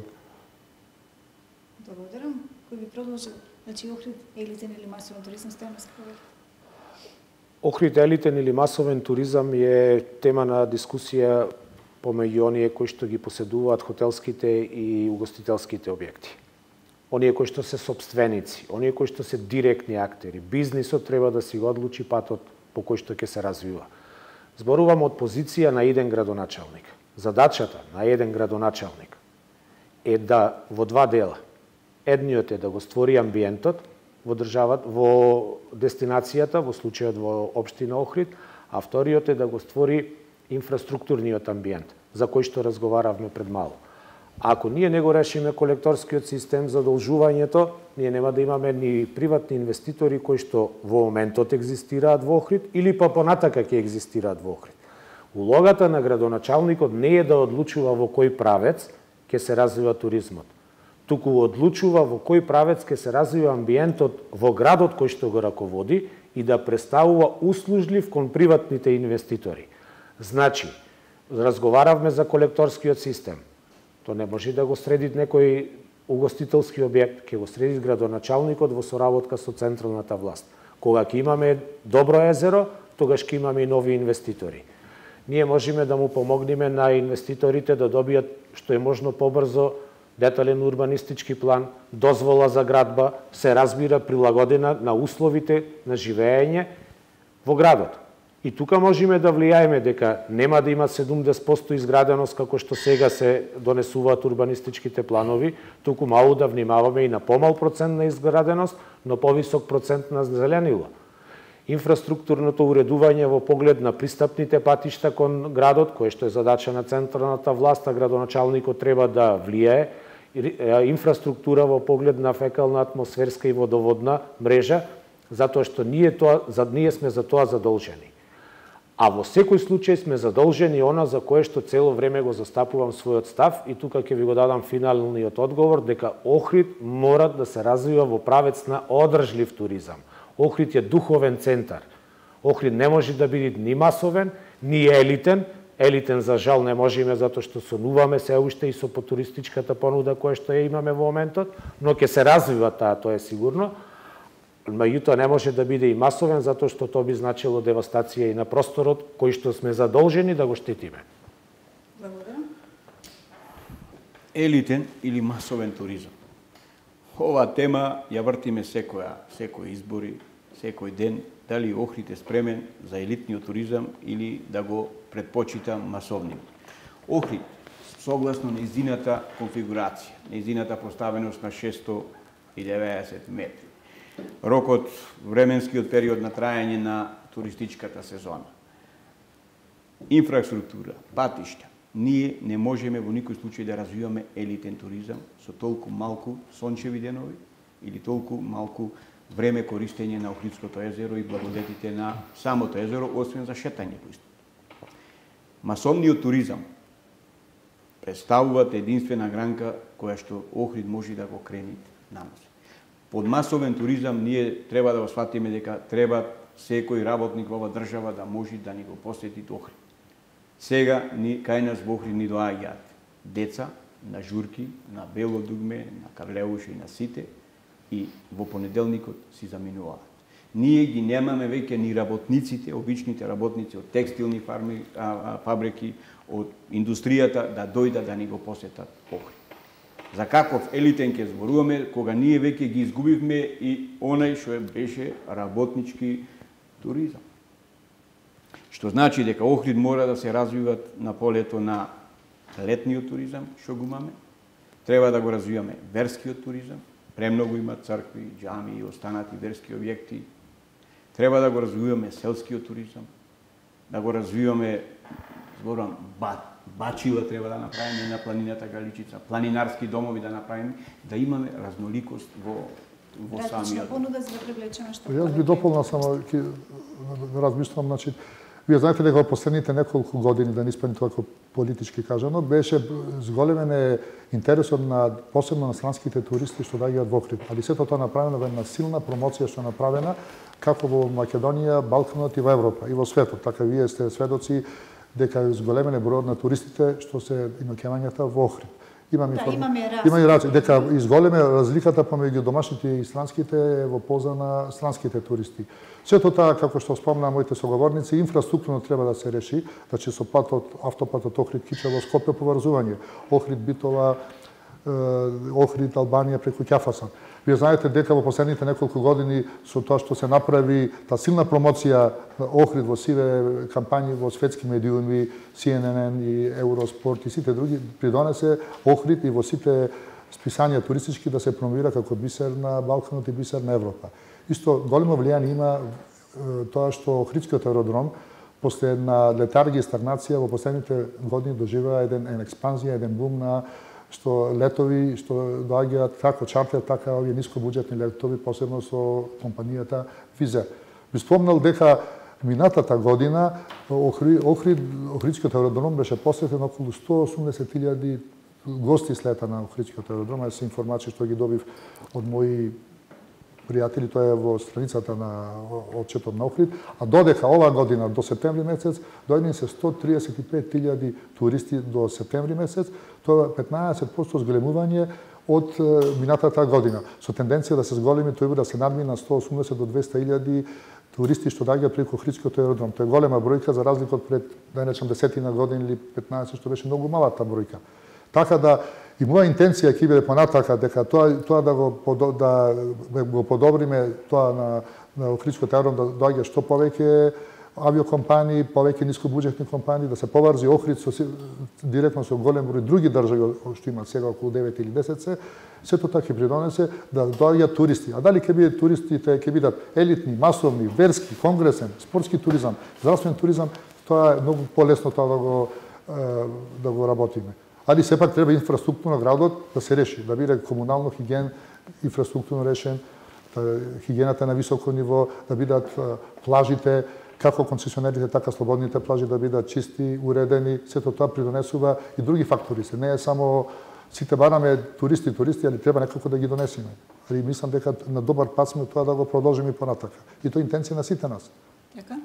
Благодарам. Кој би продолжил? Значи Охрид елитен или масовен туризам, Стојановски повели? Охрид елитен или масовен туризам е тема на дискусија помеѓу оние кои што ги поседуваат хотелските и угостителските објекти. Оние кои што се сопственици, оние кои што се директни актери. Бизнисот треба да си го одлучи патот по кој што ќе се развива. Зборувам од позиција на еден градоначалник. Задачата на еден градоначалник е да во два дела. Едниот е да го створи амбиентот во државата, во дестинацијата, во случајот во општина Охрид, а вториот е да го створи инфраструктурниот амбиент, за кој што разговаравме пред мало. Ако ние не го решиме колекторскиот систем, задолжувањето, ние нема да имаме ни приватни инвеститори кои што во моментот екзистираат во Охрид или па понатака ќе екзистираат во Охрид. Улогата на градоначалникот не е да одлучува во кој правец ќе се развива туризмот, туку одлучува во кој правец ќе се развива амбиентот во градот кој што го раководи и да представува услужлив кон приватните инвеститори. Значи, разговаравме за колекторскиот систем. Тоа не може да го среди некој угостителски објект, ќе го среди градоначалникот во соработка со централната власт. Кога ќе имаме добро езеро, тогаш ќе имаме и нови инвеститори. Ние можеме да му помогнеме на инвеститорите да добијат што е можно побрзо детален урбанистички план, дозвола за градба, се разбира прилагодена на условите на живење во градот. И тука можеме да влијаеме дека нема да има 70% изграденост како што сега се донесуваат урбанистичките планови, туку малку да внимаваме и на помал процент на изграденост, но повисок процент на зеленило. Инфраструктурното уредување во поглед на пристапните патишта кон градот, кое што е задача на централната власт, а градоначалникот треба да влијае, инфраструктура во поглед на фекална, атмосферска и водоводна мрежа, затоа што ние сме за тоа задолжени. А во секој случај сме задолжени она за кое што цело време го застапувам својот став и тука ќе ви го дадам финалниот одговор дека Охрид мора да се развива во правец на одржлив туризам. Охрид е духовен центар. Охрид не може да биде ни масовен, ни елитен. Елитен за жал не можеме затоа што сонуваме се уште и со туристичката понуда која што ја имаме во моментот, но ќе се развива таа, тоа е сигурно. Меѓутоа не може да биде и масовен затоа што тоа би значило девастација и на просторот кој што сме задолжени да го штитиме. Благодарам. Елитен или масовен туризам. Ова тема ја вртиме секој избори, секој ден, дали Охрид е спремен за елитниот туризам или да го предпочита масовниот. Охрид, согласно нејзината конфигурација, нејзината поставеност на 690 метри, рокот, временскиот период на трајање на туристичката сезона, инфраструктура, патишта, ние не можеме во никој случај да развиваме елитен туризам со толку малку сончеви денови или толку малку време користење на Охридското езеро и благодетите на самото езеро, освен за шетање по исто. Масовниот туризам представуваат единствена гранка која што Охрид може да го крени наноси. Под масовен туризам ние треба да го сватиме дека треба секој работник во оваа држава да може да ни го посети Охрид. Сега кај нас во Охрид ни доаѓаат деца на журки, на Бело дугме, на Карлеуш и на Сите и во понеделникот си заминуваат. Ние ги немаме веќе ни работниците, обичните работници од текстилни фабрики, од индустријата да дојдат да ни го посетат Охрид. За каков елитен ќе зборуваме кога ние веќе ги изгубивме и онај што беше работнички туризам. Што значи дека Охрид мора да се развиват на полето на летниот туризам, што го имаме. Треба да го развиваме верскиот туризам. Премногу има цркви, џами и останати верски објекти. Треба да го развиваме селскиот туризам, да го развиваме, зборувам, бачила треба да направиме на планината Галичица, планинарски домови да направиме, да имаме разноликост во самиот. Понуда за да привлечеме што. Јас би дополнил само размислувам, значи вие знаете дека во последните неколку години, да не испадне тоа како политички кажано, беше зголемен интересот на посебно на странските туристи што доаѓаат во Охрид. Али сето тоа направено во една силна промоција што направена како во Македонија, Балканот и во Европа и во светот. Така вие сте сведоци дека зголемен бројот на туристите што се иноќевањата во Охрид. Има и разлика. Дека изголеме разликата помеѓу домашните и странските во полза на странските туристи. Сето тоа, како што спомна моите соговорници, инфраструктурно треба да се реши, значи со автопатот Охрид-Кичево Скопје поврзување, Охрид-Битола, Охрид Албанија преку Ќафасан. Вие знаете дека во последните неколку години со тоа што се направи таа силна промоција Охрид во сиве кампањи во светски медиуми, CNN и Евроспорт и сите други, придонесе Охрид и во сите списанија туристички да се промовира како бисер на Балканот и бисер на Европа. Исто големо влијание има тоа што Охридскиот аеродром после една летаргија и стагнација во последните години доживеа една експанзија, еден бум на што летови што доаѓаат како чартер, така овие нискобуџетни летови, посебно со компанијата Визер. Би спомнал дека минатата година Охридскиот аеродром беше посетен околу 180.000 гости слета на Охридскиот аеродром, се информации што ги добив од мои пријатели, тоа е во страницата на отчетот на Охрид, а додека оваа година до септември месец дојдени се 135.000 туристи до септември месец, тоа е 15% зголемување од минатата година, со тенденција да се зголеми, тој да се надмина 180 до 200.000 туристи што доаѓаат преку Охридскиот аеродром. Тоа е голема бројка за разлика од пред, да речам, 10 години или 15, што беше многу малата бројка. Така да и моја интенција ќе биде понатака дека тоа да го подобриме тоа на Охридскиот аеродром да доаѓа што повеќе авиокомпании, повеќе нискобуџетни компании, да се поврзи Охрид директно со голем број други држави што имаат сега околу 9 или 10 сето тоа ќе придонесе да доаѓаат туристи. А дали ќе бидат туристите, ќе бидат елитни, масовни, верски, конгресен, спортски туризам, здравствен туризам, тоа е многу полесно тоа да го работиме. Али сепак треба инфраструктурно градот да се реши, да биде комунално хиген инфраструктурно решен, хигиената на високо ниво, да бидат плажите, како концесионерите, така слободните плажи да бидат чисти, уредени, сето тоа придонесува и други фактори се. Не е само сите бараме туристи, али треба некако да ги донесеме. Али мислам дека на добар пат сме тоа да го продолжиме и понатака. И тоа е интенција на сите нас. Така?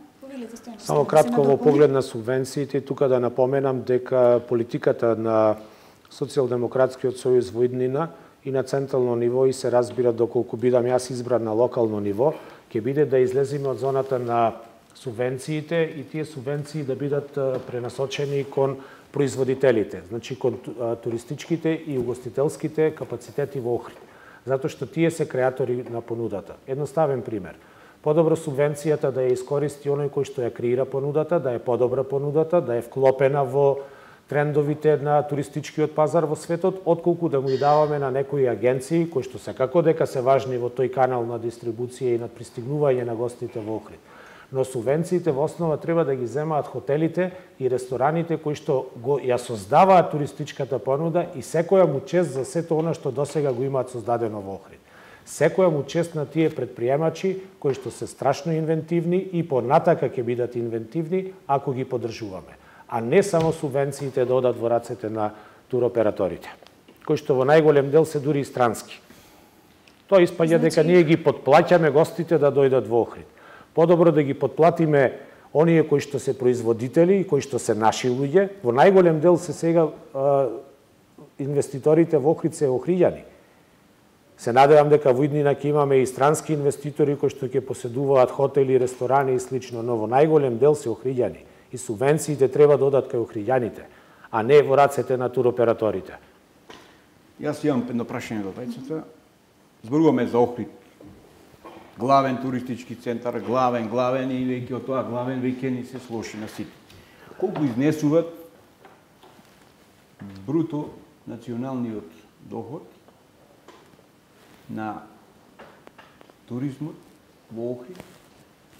Само кратко во поглед на субвенциите, тука да напоменам дека политиката на Социјалдемократскиот сојуз во иднина и на централно ниво и се разбира доколку бидам јас избран на локално ниво, ќе биде да излеземе од зоната на субвенциите и тие субвенции да бидат пренасочени кон производителите, значи кон туристичките и угостителските капацитети во Охрид. Затоа што тие се креатори на понудата. Едноставен пример. Подобро субвенцијата да ја искористи оној кој што ја креира понудата, да е подобра понудата, да е вклопена во трендовите на туристичкиот пазар во светот, отколку да му и даваме на некои агенции кои што секако дека се важни во тој канал на дистрибуција и на пристигнување на гостите во Охрид. Но субвенциите во основа треба да ги земаат хотелите и рестораните кои што ја создаваат туристичката понуда и секоја му чест за сето она што досега го имаат создадено во Охрид. Секоја му чест на тие предприемачи кои што се страшно инвентивни и понатака ќе бидат инвентивни ако ги поддржуваме. А не само субвенциите да одат во рацете на туроператорите, кои што во најголем дел се дури и странски. Тоа испаѓа дека ние ги подплаќаме гостите да дојдат во Охрид. Подобро да ги подплатиме оние кои што се производители и кои што се наши луѓе. Во најголем дел се сега инвеститорите во Охрид се охриѓани. Се надевам дека во иднина ќе имаме и странски инвеститори кои што ќе поседуваат хотели, ресторани и слично, но во најголем дел се охриѓани. И субвенциите треба да одат кај охриѓаните, а не во рацете на туроператорите. Јас имам едно прашање до тајцата. Зборуваме за Охрид. Главен туристички центар, главен и веќе од тоа главен веќе ни се слоши на сите. Колку изнесуваат бруто националниот доход на туризмот во Охрид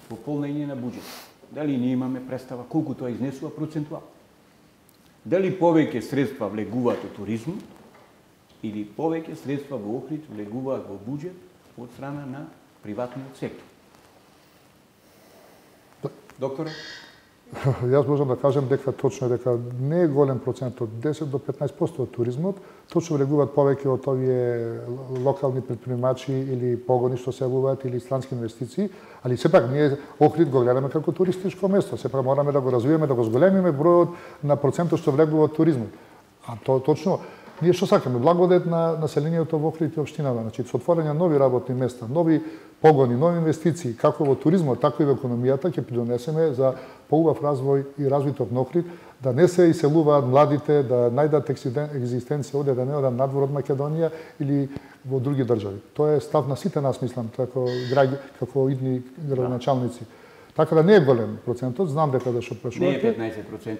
во полнење на буџет? Дали ние имаме представа колку тоа изнесува процентуално? Дали повеќе средства влегуваат во туризмот или повеќе средства во Охрид влегуваат во буџет од страна на приватниот сектор? Докторе? Јас можам да кажам дека точно е дека не е голем процент, од 10 до 15% од туризмот, точно влегуваат повеќе од овие локални предприемачи или погони што се јавуваат или странски инвестиции, али сепак ние Охрид го гледаме како туристичко место, сепак мораме да го развиеме, да го зголемиме бројот на процентот што влегува од туризмот. А тоа точно ние што сакаме, благодет на населението во Охрид и општината, значи со отворање нови работни места, нови погони, нови инвестиции, како во туризмот, така и во економијата, ќе придонесеме за поубав развој и развиток на Охрид, да не се иселуваат младите, да најдат екзистенција оде, да не одат надвор од Македонија или во други држави. Тоа е став на сите нас, мислам, како идни градоначалници. Така да не е голем процентот, знам дека да што прашувате. Не е 15%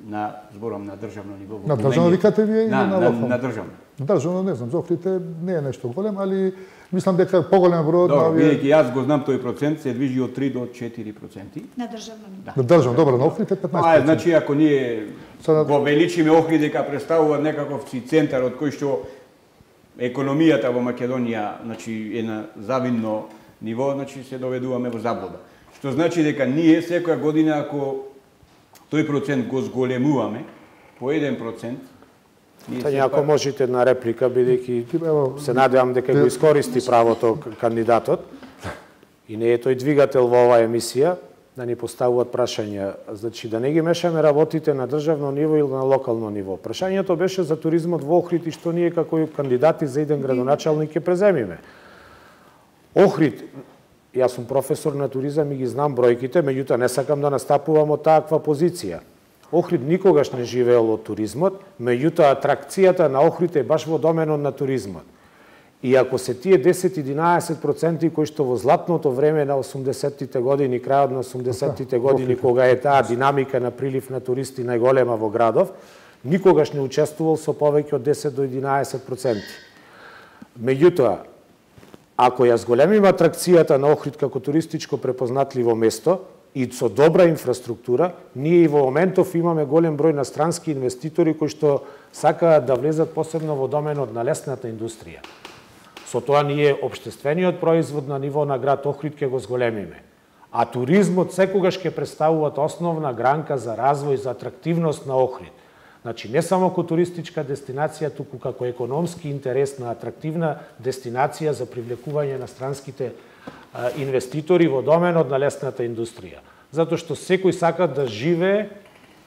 на зборам на државно ниво. На државно викате вие или на локално? На државно. На државно не знам, за Охрид не е нешто голем, али мислам дека поголем број на овие. Бидејќи јас го знам тој процент се движи од 3 до 4%. На државно ниво. На државно, добро, на Охрид е 15%. Значи ако ние го величиме Охрид дека представува некаков центар од кој што економијата во Македонија, значи е на завидно ниво, значи се доведуваме во заблуда. Што значи дека ние секоја година ако тој процент го зголемуваме по 1%, Тања, ако можете една реплика, бидејќи се надевам дека го искористи правото кандидатот и не е тој двигател во оваа емисија, да ни поставуваат прашања. Значи, да не ги мешаме работите на државно ниво или на локално ниво. Прашањето беше за туризмот во Охрид и што ние како кандидати за иден градоначалник ќе преземиме. Охрид, јас сум професор на туризам и ги знам бројките, меѓутоа не сакам да настапувам од таква позиција. Охрид никогаш не живеел од туризмот, меѓутоа атракцијата на Охрид е баш во доменот на туризмот. И ако се тие 10-11% кои што во златното време на 80-тите години, крајот на 80-тите години, кога е таа динамика на прилив на туристи најголема во градов, никогаш не учествувал со повеќе од 10 до 11%. Меѓутоа, ако ја зголемиме атракцијата на Охрид како туристичко препознатливо место и со добра инфраструктура, ние и во моментов имаме голем број на странски инвеститори кои што сакаат да влезат посебно во доменот на лесната индустрија. Со тоа ние општествениот производ на ниво на град Охрид ќе го зголемиме. А туризмот секогаш ќе представува основна гранка за развој, за атрактивност на Охрид. Значи, не само како туристичка дестинација, туку како економски интересна, атрактивна дестинација за привлекување на странските инвеститори во доменот на лесната индустрија. Затоа што секој сака да живее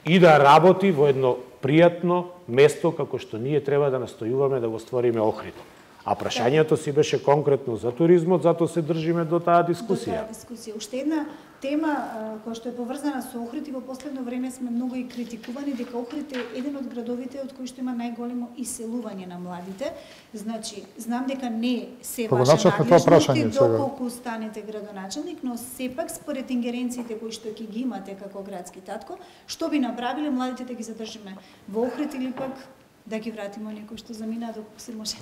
и да работи во едно пријатно место како што ние треба да настојуваме да го створиме Охрид. А прашањето си беше конкретно за туризмот, затоа се држиме до таа дискусија. Уште една тема која што е поврзана со Охрид и во последно време сме многу и критикувани дека Охрид е еден од градовите од кои што има најголемо иселување на младите. Значи, знам дека не се ваша надлежност доколку станете градоначалник, но сепак според ингеренциите кои што ќе ги имате како градски татко, што би направиле младите да ги задржиме во Охрид или пак да ги вратиме некој што замина доколку се може?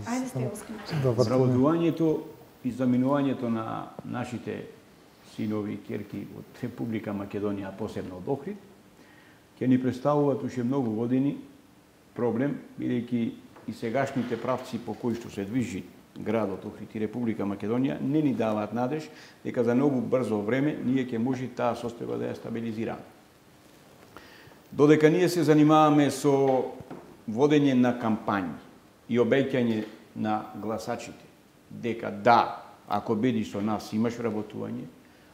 Ајде сте оскрипче. Вработувањето и заминувањето на нашите синови и ќерки од Република Македонија, посебно од Охрид, ќе ни представуваат уште многу години проблем, бидејќи и сегашните правци по кои што се движи градот Охрид и Република Македонија не ни даваат надеж дека за многу брзо време ние ќе може таа состојба да ја стабилизираме. Додека ние се занимаваме со водење на кампањи и обеќање на гласачите дека да, ако бидиш со нас имаш вработување,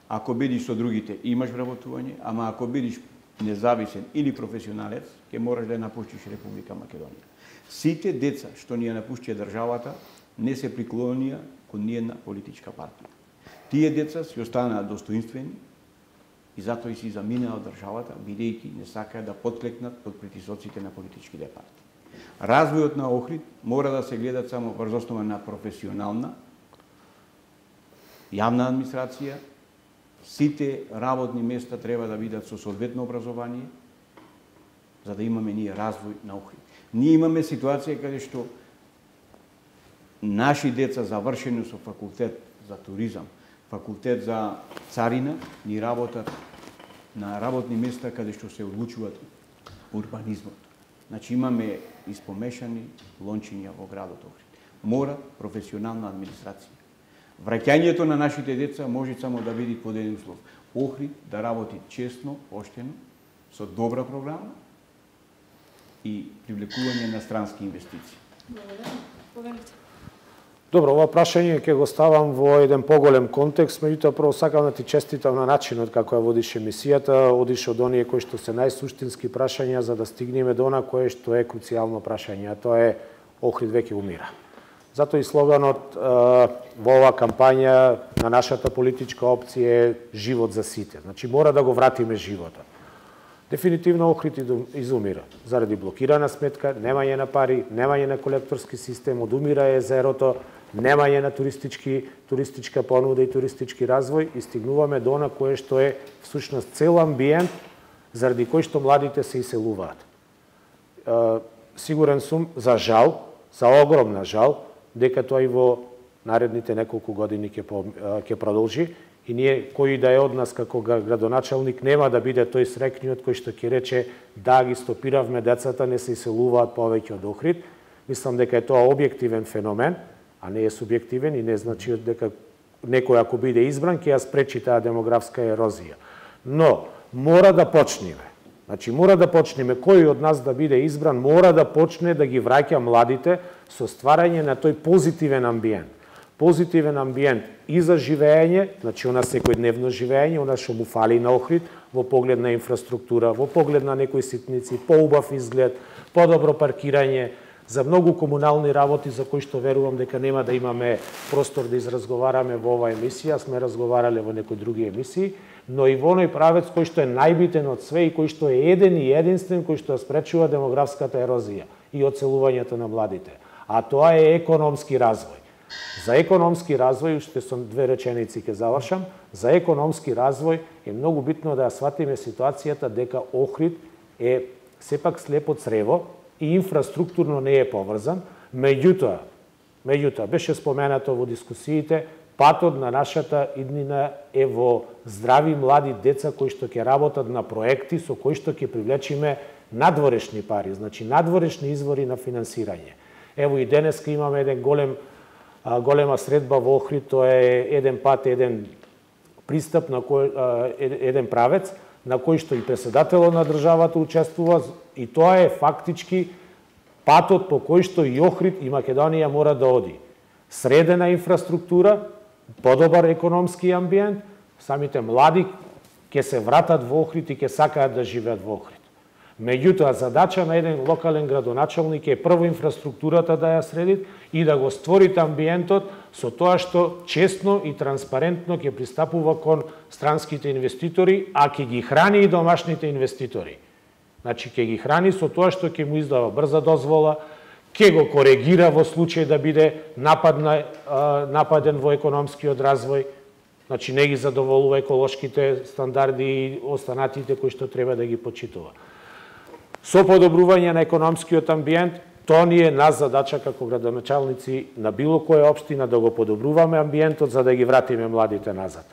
ако бидиш со другите имаш вработување, ама ако бидиш независен или професионалец, ќе мораш да ја напуштиш Република Македонија. Сите деца што ни ја напуштија државата не се приклонија кон ниедна политичка партија. Тие деца си останаа достоинствени и затоа и си заминаа од државата, бидејќи не сакаат да потклекнат под притисоците на политичките партии. Развојот на Охрид мора да се гледа само врз основа на професионална, јавна администрација, сите работни места треба да бидат со соодветно образование, за да имаме ние развој на Охрид. Ние имаме ситуација каде што наши деца завршени со факултет за туризам, факултет за царина, ни работат на работни места каде што се одлучуваат урбанизмот. Значи имаме испомешани лончиња во градот Охрид. Мора професионална администрација. Враќањето на нашите деца може само да биде под еден услов. Охрид да работи честно, поштено, со добра програма и привлекување на странски инвестиции. Благодарам. Добро, ова прашање ќе го ставам во еден поголем контекст, меѓутоа прво сакам да ти честитам на начинот како ја водиш емисијата, одиш од оние кои што се најсуштински прашања за да стигнеме до она кое што е круцијално прашање, а тоа е Охрид веќе умира. Затоа и слоганот во оваа кампања на нашата политичка опција е живот за сите. Значи мора да го вратиме животот. Дефинитивно Охрид изумира заради блокирана сметка, немање на пари, немање на колекторски систем, одумира езерото, немање на туристичка понуда и туристички развој и стигнуваме до она кое што е всушност цел амбиент заради кој што младите се иселуваат. Сигурен сум, за жал, за огромна жал, дека тоа и во наредните неколку години ќе продолжи и ние, кој да е од нас како градоначалник, нема да биде тој срекниот кој што ќе рече да ги стопиравме децата, не се иселуваат повеќе од Охрид. Мислам дека е тоа објективен феномен, а не е субјективен и не значи дека некој ако биде избран ќе ја спречи таа демографска ерозија. Но мора да почнеме. Значи мора да почнеме, кој од нас да биде избран мора да почне да ги враќа младите со стварање на тој позитивен амбиент. Позитивен амбиент и за живење, значи она секојдневно живење, она што му фали на Охрид, во поглед на инфраструктура, во поглед на некои ситници, поубав изглед, подобро паркирање, за многу комунални работи за кои што верувам дека нема да имаме простор да изразговараме во оваа емисија, сме разговарале во некои други емисии, но и во оној правец кој што е најбитен од све и кој што е еден и единствен кој што спречува демографската ерозија и оцелувањето на младите. А тоа е економски развој. За економски развој, уште со две реченици ќе завршам, за економски развој е многу битно да ја сватиме ситуацијата дека Охрид е сепак слепо црево и инфраструктурно не е поврзан, меѓутоа беше споменато во дискусиите, патот на нашата иднина е во здрави млади деца кои што ќе работат на проекти со кои што ќе привлечиме надворешни пари, значи надворешни извори на финансирање. Ево и денеска имаме еден голема средба во Охрид, тоа е еден пат, еден пристап на еден правец на кој што и председателот на државата учествува, и тоа е фактички патот по кој што и Охрид и Македонија мора да оди. Средена инфраструктура, подобар економски амбиент, самите млади ќе се вратат во Охрид и ќе сакаат да живеат во Охрид. Меѓутоа, задача на еден локален градоначалник е прво инфраструктурата да ја среди и да го створите амбиентот со тоа што честно и транспарентно ќе пристапува кон странските инвеститори, а ќе ги храни и домашните инвеститори. Значи, ќе ги храни со тоа што ќе му издава брза дозвола, ќе го коригира во случај да биде нападен во економскиот развој, значи не ги задоволува еколошките стандарди и останатите кои што треба да ги почитува. Со подобрување на економскиот амбиент, тоа ни е нас задача како градоначалници на било која општина да го подобруваме амбиентот за да ги вратиме младите назад.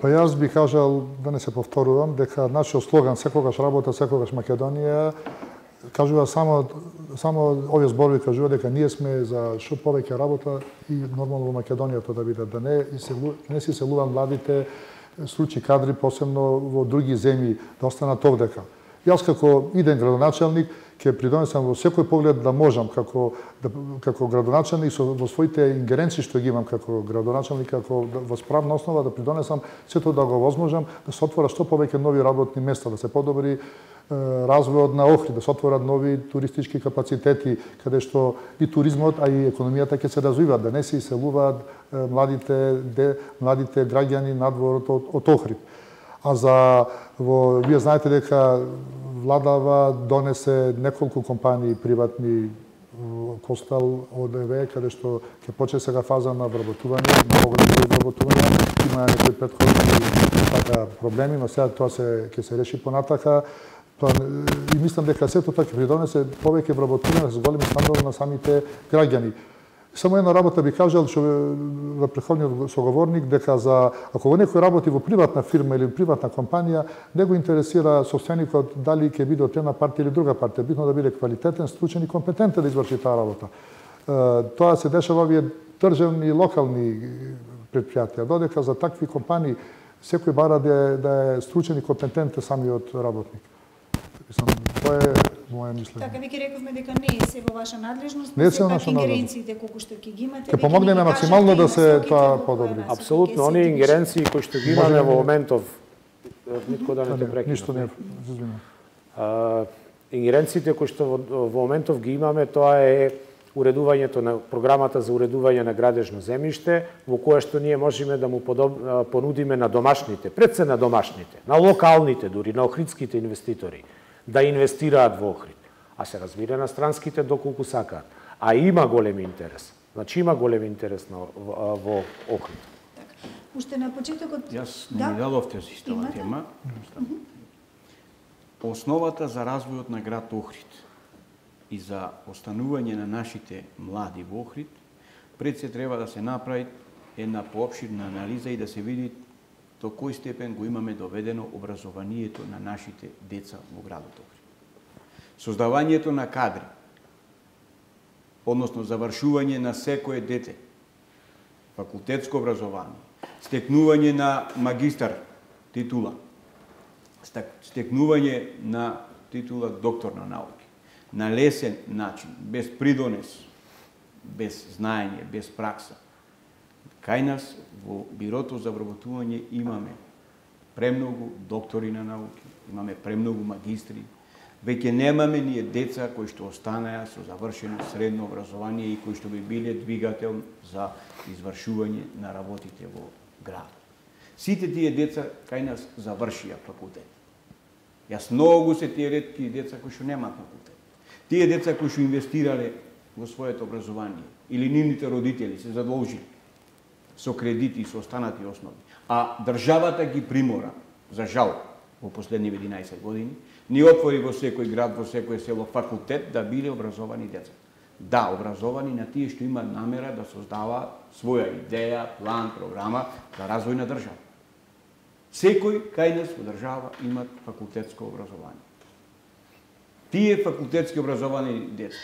Па јас би кажал, да не се повторувам, дека нашиот слоган секогаш работа, секогаш Македонија кажува само овие зборови кажува дека ние сме за што повеќе работа и нормално во Македонија тоа да биде, да не се иселуваат младите случаи кадри посебно во други земји да останат овдека. Јас како иден градоначалник ќе придонесам во секој поглед да можам како градоначалник во своите ингеренции што ги имам како градоначалник, како во справна основа да придонесам сето да го возможам да се отворат што повеќе нови работни места, да се подобри развојот на Охрид, да се отворат нови туристички капацитети каде што и туризмот, а и економијата ќе се развиваат, да не се иселуваат младите граѓани надвор од Охрид. А вие знаете дека владава донесе неколку компании приватни Костал ОДВ, каде што ќе почне сега фаза на вработување, многу големи вработувања, има некои претходни проблеми, но сега тоа ќе се реши понатака. И мислам дека сето тоа ќе придонесе повеќе вработување со големи стандарди на самите граѓани. Само една работа би кажал што на претходниот соговорник дека ако некој работи во приватна фирма или приватна компанија, не го интересира собственикот дали ќе биде од една партија или друга партија, битно да биде квалитетен, стручен и компетентен да изврши таа работа. Тоа се дешава во овие државни и локални предпријатија, додека за такви компании секој бара да е стручен и компетентен самиот работник. Тоа е моја мислење. Така, веќе рековме дека не е се во ваша надлежност, не се пак ингеренциите колку што ќе ги имате, ќе помогнеме максимално да се тоа подобри. Апсолутно, оние ингеренции кои што ги имаме во моментов, нитко да не те прекинам. Ништо не, извинувам. Ингеренциите кои што во моментов ги имаме, тоа е уредувањето на програмата за уредување на градежно земјиште, во кое што ние можеме да му понудиме на домашните, пред се на домашните, на локалните дури, на охридските инвеститори, да инвестираат во Охрид. А се разбира на странските доколку сакаат. А има голем интерес. Значи има голем интерес во Охрид. Уште на почетокот... Јас не ми дадовте за истава тема. Основата за развојот на град Охрид и за останување на нашите млади во Охрид, пред се треба да се направи една поопширна анализа и да се види до кој степен го имаме доведено образованието на нашите деца во градот Охрид. Создавањето на кадри, односно завршување на секое дете, факултетско образование, стекнување на магистар титула, стекнување на титула доктор на науки, на лесен начин, без придонес, без знаење, без пракса. Кај нас во Бирото за вработување имаме премногу доктори на науки, имаме премногу магистри, веќе немаме ние деца кои што останаа со завршено средно образование и кои што би биле двигател за извршување на работите во градот. Сите тие деца кај нас завршија факултет. Јас многу се тие ретки деца кои што немаат факултет. Тие деца кои што инвестирале во своето образование или нивните родители се задолжили со кредити и со останати основи, а државата ги примора, за жал, во последниве 11 години, ни отвори во секој град, во секој село факултет да биле образовани деца. Да, образовани на тие што имаат намера да создава своја идеја, план, програма за развој на држава. Секој кај нас во држава имаат факултетско образование. Тие факултетски образовани деца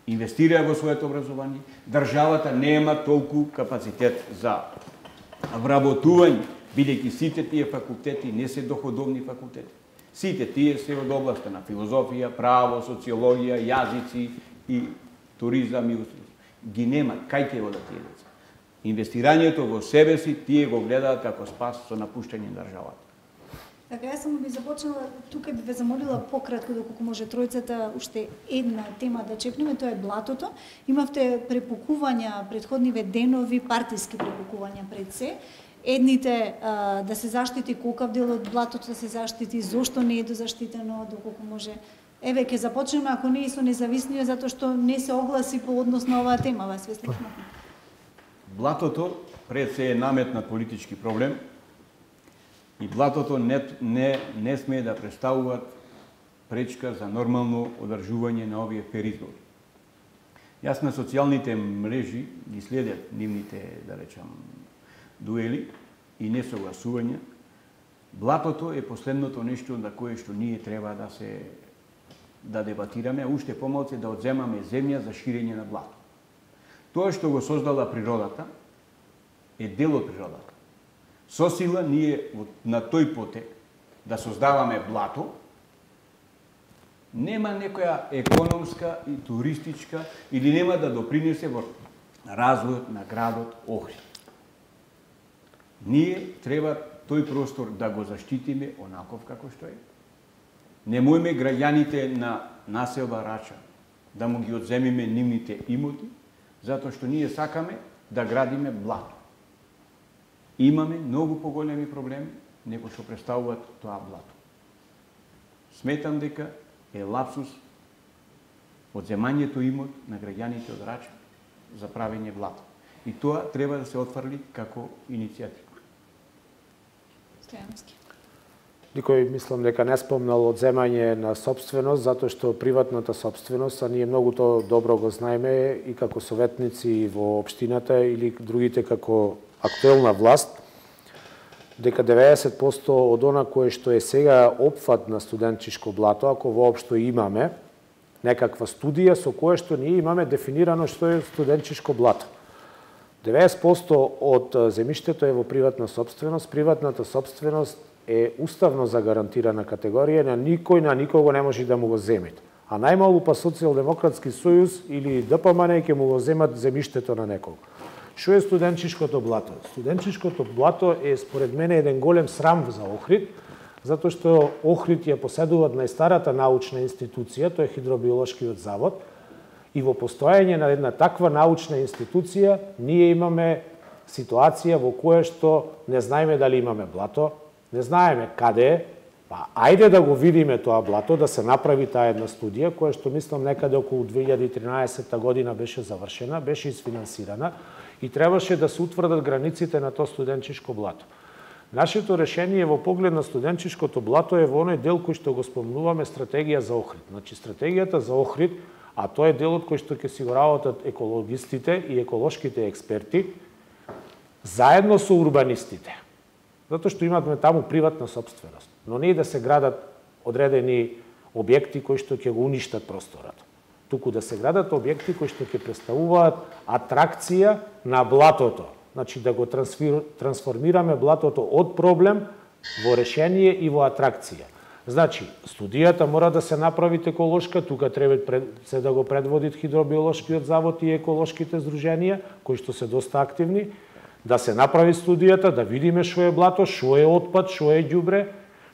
инвестираа во своето образование, државата нема толку капацитет за вработување, бидејќи сите тие факултети не се доходовни факултети. Сите тие се од областа на филозофија, право, социологија, јазици и туризам и устројство. Ги нема, кај ќе одат тие деца? Инвестирањето во себе си тие го гледаат како спас со напуштање на државата. Така, јас само би започнала, тука би ве замолила пократко, доколку може тројцата, уште една тема да чепнеме, тоа е блатото. Имавте препукувања предходниве денови, партиски препукувања пред се. Едните да се заштити колкав дел од блатото да се заштити, зошто не е дозаштитено, доколку може. Еве, ќе започнеме, ако не и со независниот, затоа што не се огласи по однос на оваа тема, вас ве слушнавме. Блатото пред се е наметнат политички проблем и блатото не смее да представуваат пречка за нормално одржување на овие перизбори. Јас на социјалните мрежи ги следят нивните, да речам, дуели и несогласувања. Блатото е последното нешто на кое што ние треба да дебатираме, уште помалку да одземаме земја за ширење на блато. Тоа што го создала природата е дел од природата. Со сила ние на тој потек да создаваме блато, нема некоја економска и туристичка или нема да допринесе во развојот на градот Охрид. Ние треба тој простор да го заштитиме онаков како што е. Немојме граѓаните на населба Рача да му ги одземиме нивните имоти, затоа што ние сакаме да градиме блато. Имаме многу поголеми проблеми него што представуваат тоа блато. Сметам дека е лапсус одземањето имот на граѓаните од Рача за правење блато. И тоа треба да се отфрли како иницијатива. Стојановски. Никој мислам дека не спомнал одземање на собственост, затоа што приватната собственост, а ние многу тоа добро го знаеме и како советници во општината или другите како актуелна власт, дека 90% од она кое што е сега опфат на студентчишко блато, ако воопшто имаме некаква студија со кое што ние имаме дефинирано што е студентчишко блато. 90% од земјиштето е во приватна собственост. Приватната собственост е уставно загарантирана категорија, на никој на никого не може да му го земат. А најмалу па Социјалдемократски сојуз или ДПМН ќе му го земат земјиштето на некого. Што е студентчишкото блато? Студентчишкото блато е според мене еден голем срам за Охрид, затоа што Охрид ја поседува најстарата научна институција, тоа е Хидробиолошкиот завод, и во постојање на една таква научна институција ние имаме ситуација во која што не знаеме дали имаме блато, не знаеме каде е, па ајде да го видиме тоа блато, да се направи таа една студија, која што мислам некаде околу 2013 година беше завршена, беше isfinansirana и требаше да се утврдат границите на тоа студентчишко блато. Нашето решение во поглед на студентчишкото блато е во оној дел кој што го спомнуваме стратегија за Охрид. Значи стратегијата за Охрид, а тоа е делот кој што ќе си го работат екологистите и еколошките експерти, заедно со урбанистите. Затоа што имаме таму приватна собственост, но не и да се градат одредени објекти кои што ќе го уништат просторот. Туку да се градат објекти кои што ќе представуваат атракција на блатото. Значи да го трансформираме блатото од проблем во решение и во атракција. Значи, студијата мора да се направи еколошка, тука треба се да го предводит Хидробиолошкиот завод и еколошките здруженија, кои што се доста активни, да се направи студијата, да видиме што е блато, што е отпад, што е ѓубре,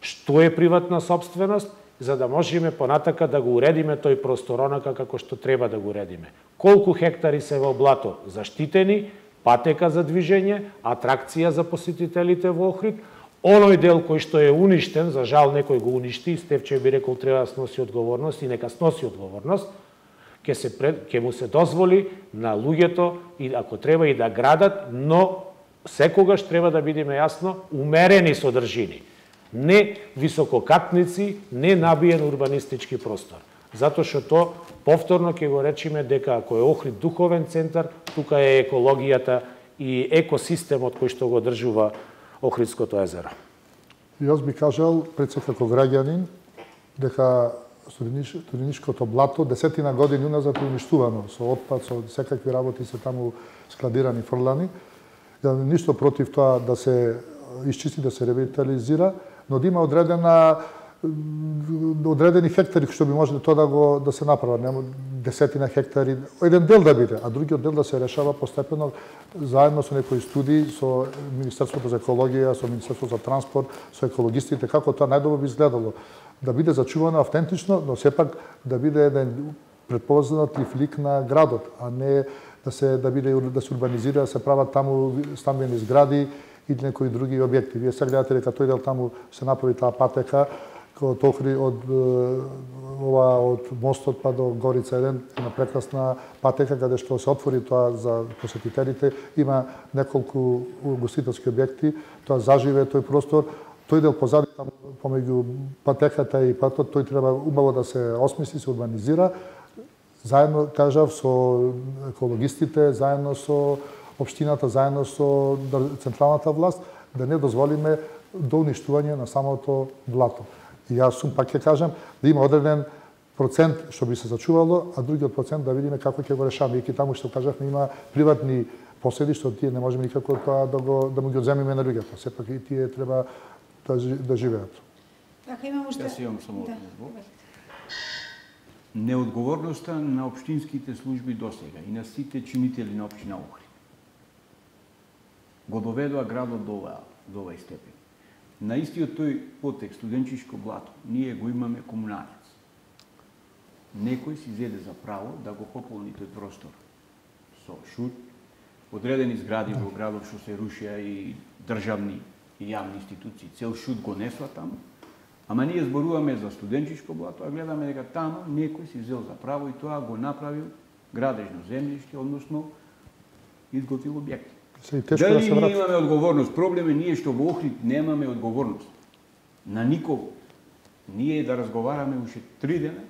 што е приватна собственост, за да можеме понатака да го уредиме тој простор онака како што треба да го уредиме. Колку хектари се во блато заштитени, патека за движење, атракција за посетителите во Охрид, оној дел кој што е уништен, за жал некој го уништи, Стефче би рекол треба да сноси одговорност и нека сноси одговорност, ќе му се дозволи на луѓето и ако треба и да градат, но секогаш треба да бидеме јасно умерени содржини. Не висококатници, не набиен урбанистички простор. Затоа што тоа повторно ќе го речиме дека ако е Охрид духовен центар, тука е екологијата и екосистемот кој што го одржува Охридското езеро. Јас би кажал, пред се како граѓанин, дека студеничкото блато 10 години уназад е уништувано со отпад, со секакви работи се таму складирани, фрлани. да ништо против тоа да се исчисти, да се ревитализира, но да има одредени хектари што би можело тоа да се направат, нема десетина хектари, еден дел да биде, а другиот дел да се решава постепено заедно со некои студии, со Министерството за екологија, со Министерството за транспорт, со екологистите, како тоа најдобро би изгледало. Да биде зачувано автентично, но сепак да биде еден препознатлив лик на градот, а не да се урбанизира, да се прават таму стамбени згради или некои други објекти. Вие се гледате дека тој дел таму се направи таа патека од Охрид, од мостот па до Горица 1, една прекрасна патека каде што се отвори тоа за посетителите, има неколку угостителски објекти, тоа заживе тој простор, тој дел позади таму помеѓу патеката и патот, тој треба убаво да се осмисли, се урбанизира, заедно, кажав, со екологистите, заедно со општината, заедно со централната власт, да не дозволиме до уништување на самото блато. И јас пак ќе кажам, да има одреден процент што би се зачувало, а другиот процент да видиме како ќе го решаваме. И таму што кажавме има приватни поседи што тие не можеме никако тоа да му ги одземиме на луѓето. Сепак и тие треба да живеат. Така имам уште. Јас имам само неодговорноста на општинските служби досега и на сите чинители на општина Охрид го доведоа градот до овај степен. На истиот тој потек студенчишко блато ние го имаме комуналец. Некој си зеде за право да го пополни тој простор со шут, одредени згради во градот што се рушија и државни и јавни институции, цел шут го несла таму. Ама ние зборуваме за студенчишко блато, а гледаме дека таму некој си взел за право и тоа го направил градежно земјиште, односно изготвил објекти. Дали ние имаме одговорност? Проблем е ние што во Охрид немаме одговорност. На никого. Ние да разговараме уште 3 дена,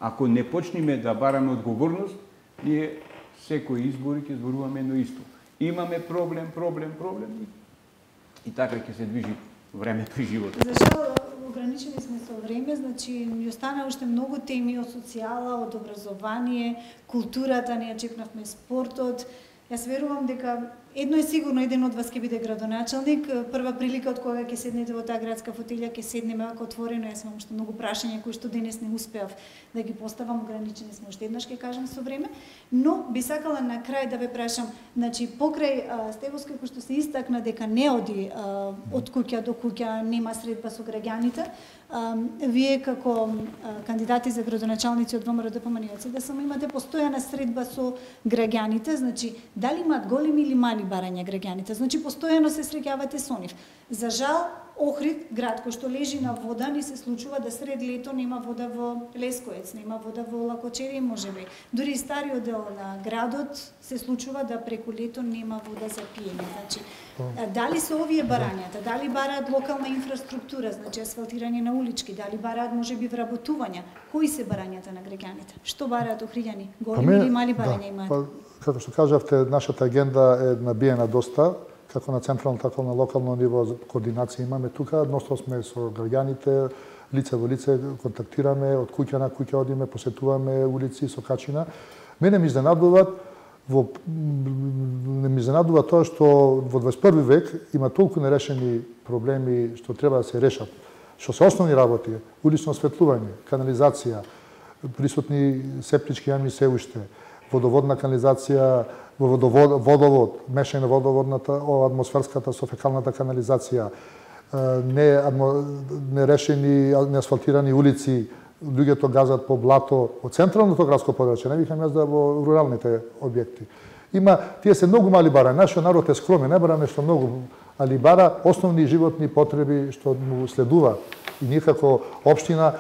ако не почнеме да бараме одговорност, ние секој избори ќе зборуваме едно исто. Имаме проблем и така ќе се движи времето и животот. За жал, ограничени сме со време, значи ни остана уште многу теми од социјала, од образование, културата, ние чекнавме спортот. Јас верувам дека едно е сигурно, еден од вас ќе биде градоначалник. Прва прилика од кога ќе седнете во таа градска фотилја, ќе седнеме ако отворено. Јас имам уште многу прашања кои што денес не успеав да ги поставам, ограничени сме уште еднаш ќе кажам со време, но би сакала на крај да ве прашам, значи покрај Стевоска кој што се истакна дека не оди од куќа до куќа, нема средба со граѓаните, вие како кандидати за градоначалници од ВМРО ДПМН да само имате постојана средба со граѓаните, значи дали имаат големи или мали барања граѓаните, значи постојано се среќавате со нив. За жал, Охрид, град кој што лежи на вода, ни се случува да сред лето нема вода во Лескоец, нема вода во Лакочеви, можеби. Дури и стариот дел на градот се случува да преку лето нема вода за пиење. Значи, дали се овие барањата, дали бараат локална инфраструктура, значи асфалтирање на улички, дали бараат можеби вработувања, кои се барањата на граѓаните? Што бараат охриѓани? Големи или мали барања имаат? Како што кажавте, нашата агенда е набиена доста, како на централно, така на локално ниво координација имаме тука. Едноставно сме со граѓаните, лице во лице контактираме, од куќа на куќа одиме, посетуваме улици со качина. Мене ми изненадува тоа што во 21 век има толку нерешени проблеми што треба да се решат. Што се основни работи, улично осветлување, канализација, присутни септички јами се уште, водоводна канализација, водовод, мешање на водоводната, атмосферската со фекалната канализација, нерешени, неасфалтирани улици, луѓето газат по блато од централното градско подрачје, не викам јас да во руралните објекти. Тие се многу мали бара, нашиот народ е скромен, не бара нешто многу, али бара основни животни потреби што му следува. И ние како општина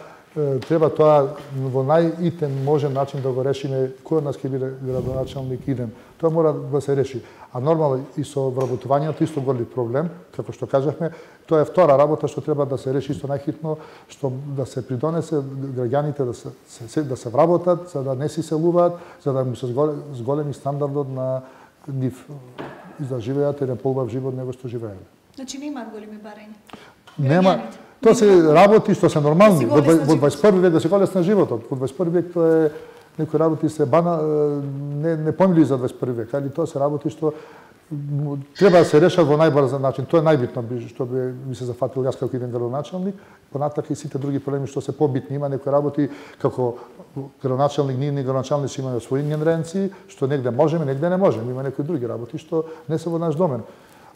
треба тоа во најитен можен начин да го решиме, кој од нас ќе биде градоначалник иден. Тоа мора да се реши. А нормално и со вработувањето исто голем проблем, како што кажавме, тоа е втора работа што треба да се реши исто најхитно, што да се придонесе граѓаните да се вработат, за да не си селуваат, за да му се зголеми стандардот на нив и да живеат еден поубав живот него што живееле. Значи не имаат големи барања. Нема. Тоа се работи што се нормални. Во 21 век да се голесна животот. Во 21 век тоа е некои работи се не помили за 21 век, али тоа се работи што треба да се решат во најбрз начин. Тоа е најбитно што би ми се зафатил јас како еден градоначалник. Понатака и сите други проблеми што се побитни. Има некои работи како градоначалник, ние градоначалници имаме своји ингеренции, што негде можеме, негде не можеме. Има некои други работи што не се во наш домен.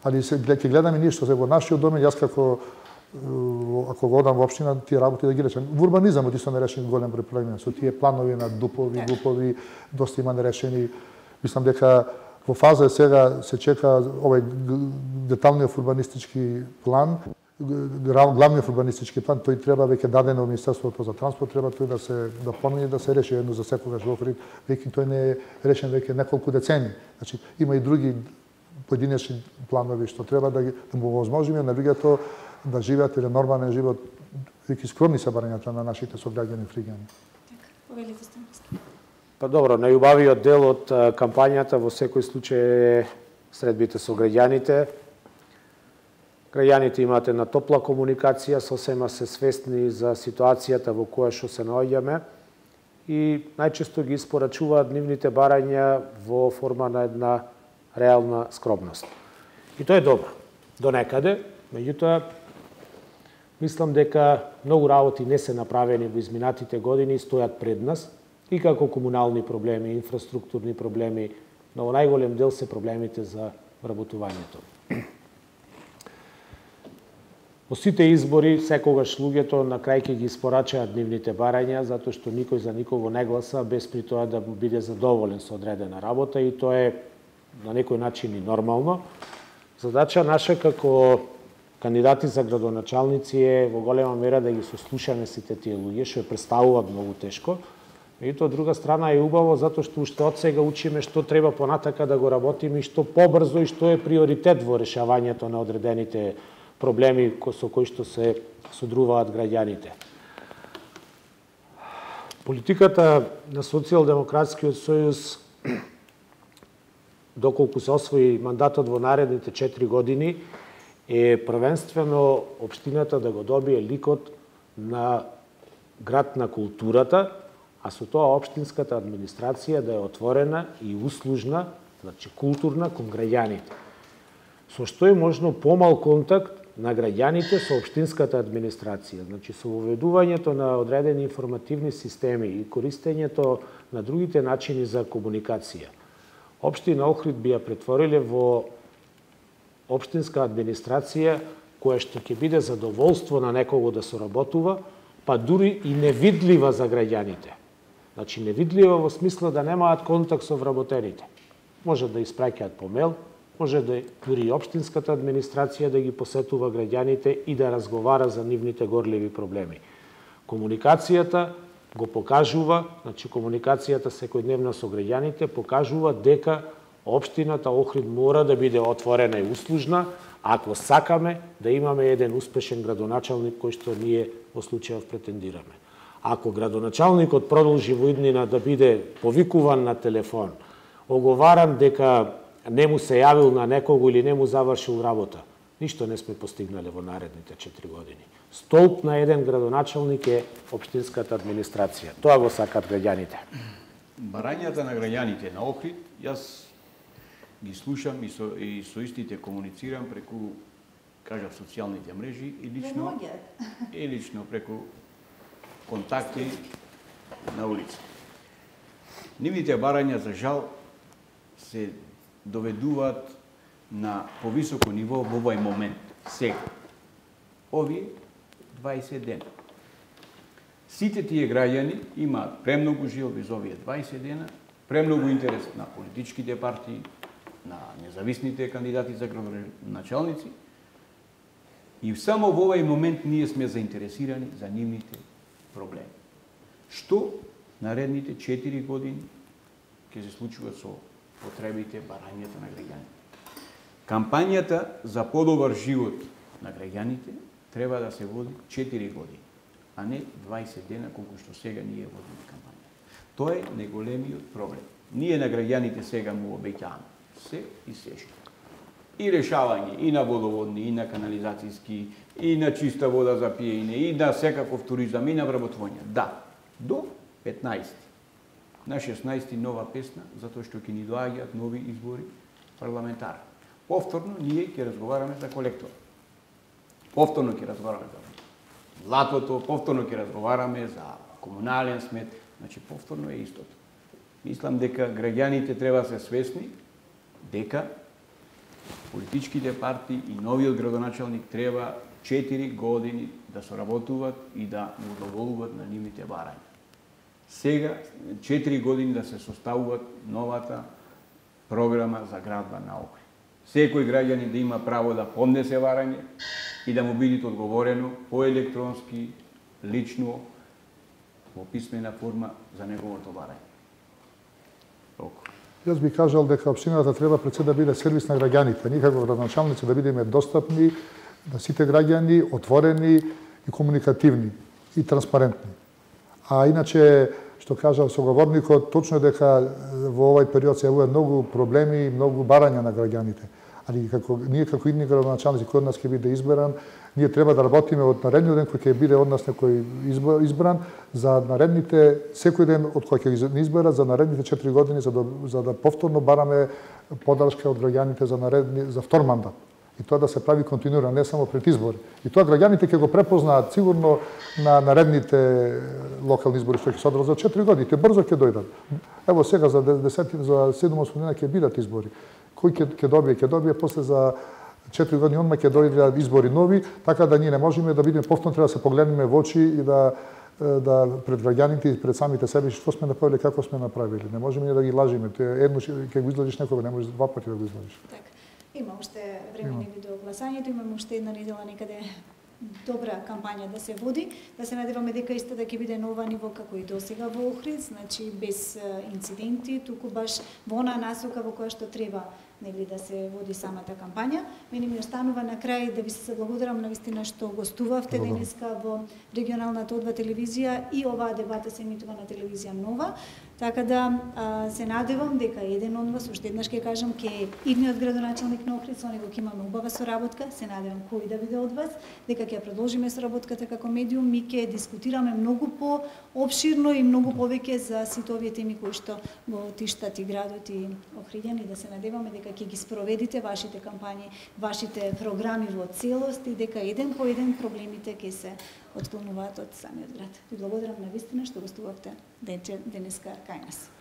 Али ќе гледаме ние што се во нашиот домен, јас како ако го одам во општина, тие работи да ги речем. Во урбанизамот исто не решени голем број проблеми. Со тие планови на дупови, глупови, доста има нерешени. Мислам дека во фаза е сега се чека овој деталниот урбанистички план, главниот урбанистички план, тој треба веќе даден од Министерството за транспорт, треба тој да се допълни, да се реши едно за секогаш во Охрид, веќе тој не е решен веќе неколку децени. Значи има и други поединечни планови што треба да му возможиме на луѓето да живеат еден нормален живот, веќе скромни се барањата на нашите сограѓани фригани. Па добро, најубавиот дел од кампањата во секој случај е средбите со граѓаните. Граѓаните имаат една топла комуникација, сосема се свесни за ситуацијата во која што се наоѓаме и најчесто ги испорачуваат нивните барања во форма на една реална скромност. И тоа е добро, до некаде, меѓутоа, мислам дека многу работи не се направени во изминатите години и стојат пред нас, и како комунални проблеми, инфраструктурни проблеми, но во најголем дел се проблемите за вработувањето. Во сите избори, секогаш луѓето на крај ќе ги испорачаат нивните барања, затоа што никој за никого не гласа, без при тоа да биде задоволен со одредена работа и тоа е на некој начин и нормално. Задача наша како кандидати за градоначалници е во голема мера да ги сослушаме сите тие луѓе, што ја представуваат многу тешко. И тоа, од друга страна, е убаво, затоа што уште од сега учиме што треба понатака да го работиме и што побрзо и што е приоритет во решавањето на одредените проблеми со кои што се содруваат граѓаните. Политиката на Социјалдемократскиот сојуз, доколку се освои мандатот во наредните 4 години, е првенствено општината да го добие ликот на град на културата, а со тоа општинската администрација да е отворена и услужна, значи културна кон граѓаните. Со што е можно помал контакт на граѓаните со општинската администрација, значи со воведувањето на одредени информативни системи и користењето на другите начини за комуникација. Општина Охрид би ја претвориле во општинска администрација која што ќе биде задоволство на некого да соработува, па дури и невидлива за граѓаните. Значи невидлива во смисла да немаат контакт со вработените. Може да испраќаат по мејл, може да дури и општинската администрација да ги посетува граѓаните и да разговара за нивните горливи проблеми. Комуникацијата го покажува, значи комуникацијата секојдневна со граѓаните покажува дека општината Охрид мора да биде отворена и услужна, ако сакаме да имаме еден успешен градоначалник кој што ние во случајов претендираме. Ако градоначалникот продолжи во иднина да биде повикуван на телефон, оговаран дека не му се јавил на некого или не му завршил работа, ништо не сме постигнале во наредните 4 години. Столб на еден градоначалник е општинската администрација. Тоа го сакат граѓаните. Барањата на граѓаните на Охрид, јас ги слушам и со истите комуницирам преку, кажав, социјалните мрежи и лично преку контакти на улица. Нивните барања, за жал, се доведуваат на повисоко ниво во овој момент, сега. Овие 20 дена. Сите тие граѓани имаат премногу желби за овие 20 дена, премногу интерес на политичките партии, на независните кандидати за градоначалници и само во овој момент ние сме заинтересирани за нивните проблеми. Што наредните 4 години ќе се случува со потребите, барањата на граѓаните? Кампањата за подобар живот на граѓаните треба да се води 4 години, а не 20 дена колку што сега ние водиме кампања. Тоа е најголемиот проблем. Ние на граѓаните сега му обеќаваме се и сешто. И решавање и на водоводни, и на канализацијски, и на чиста вода за пиење, и на секаков туризам, и на вработување. Да, до 15. На 16 нова песна, затоа што ќе ни доаѓаат нови избори парламентарни. Повторно ние ќе разговараме за колектор. Повторно ќе разговараме за златото, повторно ќе разговараме за комунален смет, значи повторно е истото. Мислам дека граѓаните треба да се свесни дека политичките партии и новиот градоначалник треба 4 години да соработуваат и да му удоволуват на нивните барања. Сега 4 години да се составуваат новата програма за градба на Охрид. Секој граѓанин да има право да поднесе барање и да му биде одговорено по електронски, лично, во писмена форма за неговото барање. Јас би кажал дека општината треба пред се да биде сервис на граѓаните. Ние како градоначалници да бидеме достапни на сите граѓани, отворени и комуникативни и транспарентни. А иначе, што кажа соговорникот, точно е дека во овој период се јавуваат многу проблеми и многу барања на граѓаните. Али ние како идни градоначалници кој од нас ќе биде избран, ние треба да работиме од наредниот ден кој ќе биде од нас некој избран за наредните секој ден од кој ќе ги изберат за наредните 4 години за да повторно бараме поддршка од граѓаните за втор мандат. И тоа да се прави континуирано, не само пред избори. И тоа граѓаните ќе го препознаат сигурно на наредните локални избори што ќе се одржат за 4 години. Те брзо ќе дојдат. Ево сега за 7 дена ќе бидат избори. Кој ќе добие после за 4 години онма ќе дојдат избори нови, така да ние не можеме да бидеме повторно, треба да се погледнеме во очи и да пред граѓаните и пред самите себе што сме направиле, како сме направиле. Не можеме да ги лажиме. Едно ќе го излажиш некога, не можеш два пати да го излажиш. Така. Има уште време неби до гласањето, имаме уште една недела некаде добра кампања да се води, да се надеваме дека истата ќе биде нова ниво како и досега во Охрид, значи без инциденти, туку баш во онаа насока во која што треба нели да се води самата кампања. Мене ми останува на крај да ви се благодарам навистина што гостувавте денеска во регионалната О2 телевизија и оваа дебата се емитува на телевизија Нова. Така да се надевам дека еден од вас, уште еднаш ќе кажам, ке идниот градоначалник на Охрид, со него ќе имаме убава соработка, се надевам кој да биде од вас, дека ќе продолжиме соработката како медиум, ми ќе дискутираме многу по-обширно и многу повеќе за сите овие теми кои што го тиштат и градот и охриѓани, да се надеваме дека ќе ги спроведите вашите кампањи, вашите програми во целост и дека еден по еден проблемите ќе се отклонуваат од самиот град. Ви благодарам навистина што гостувавте денеска кај нас.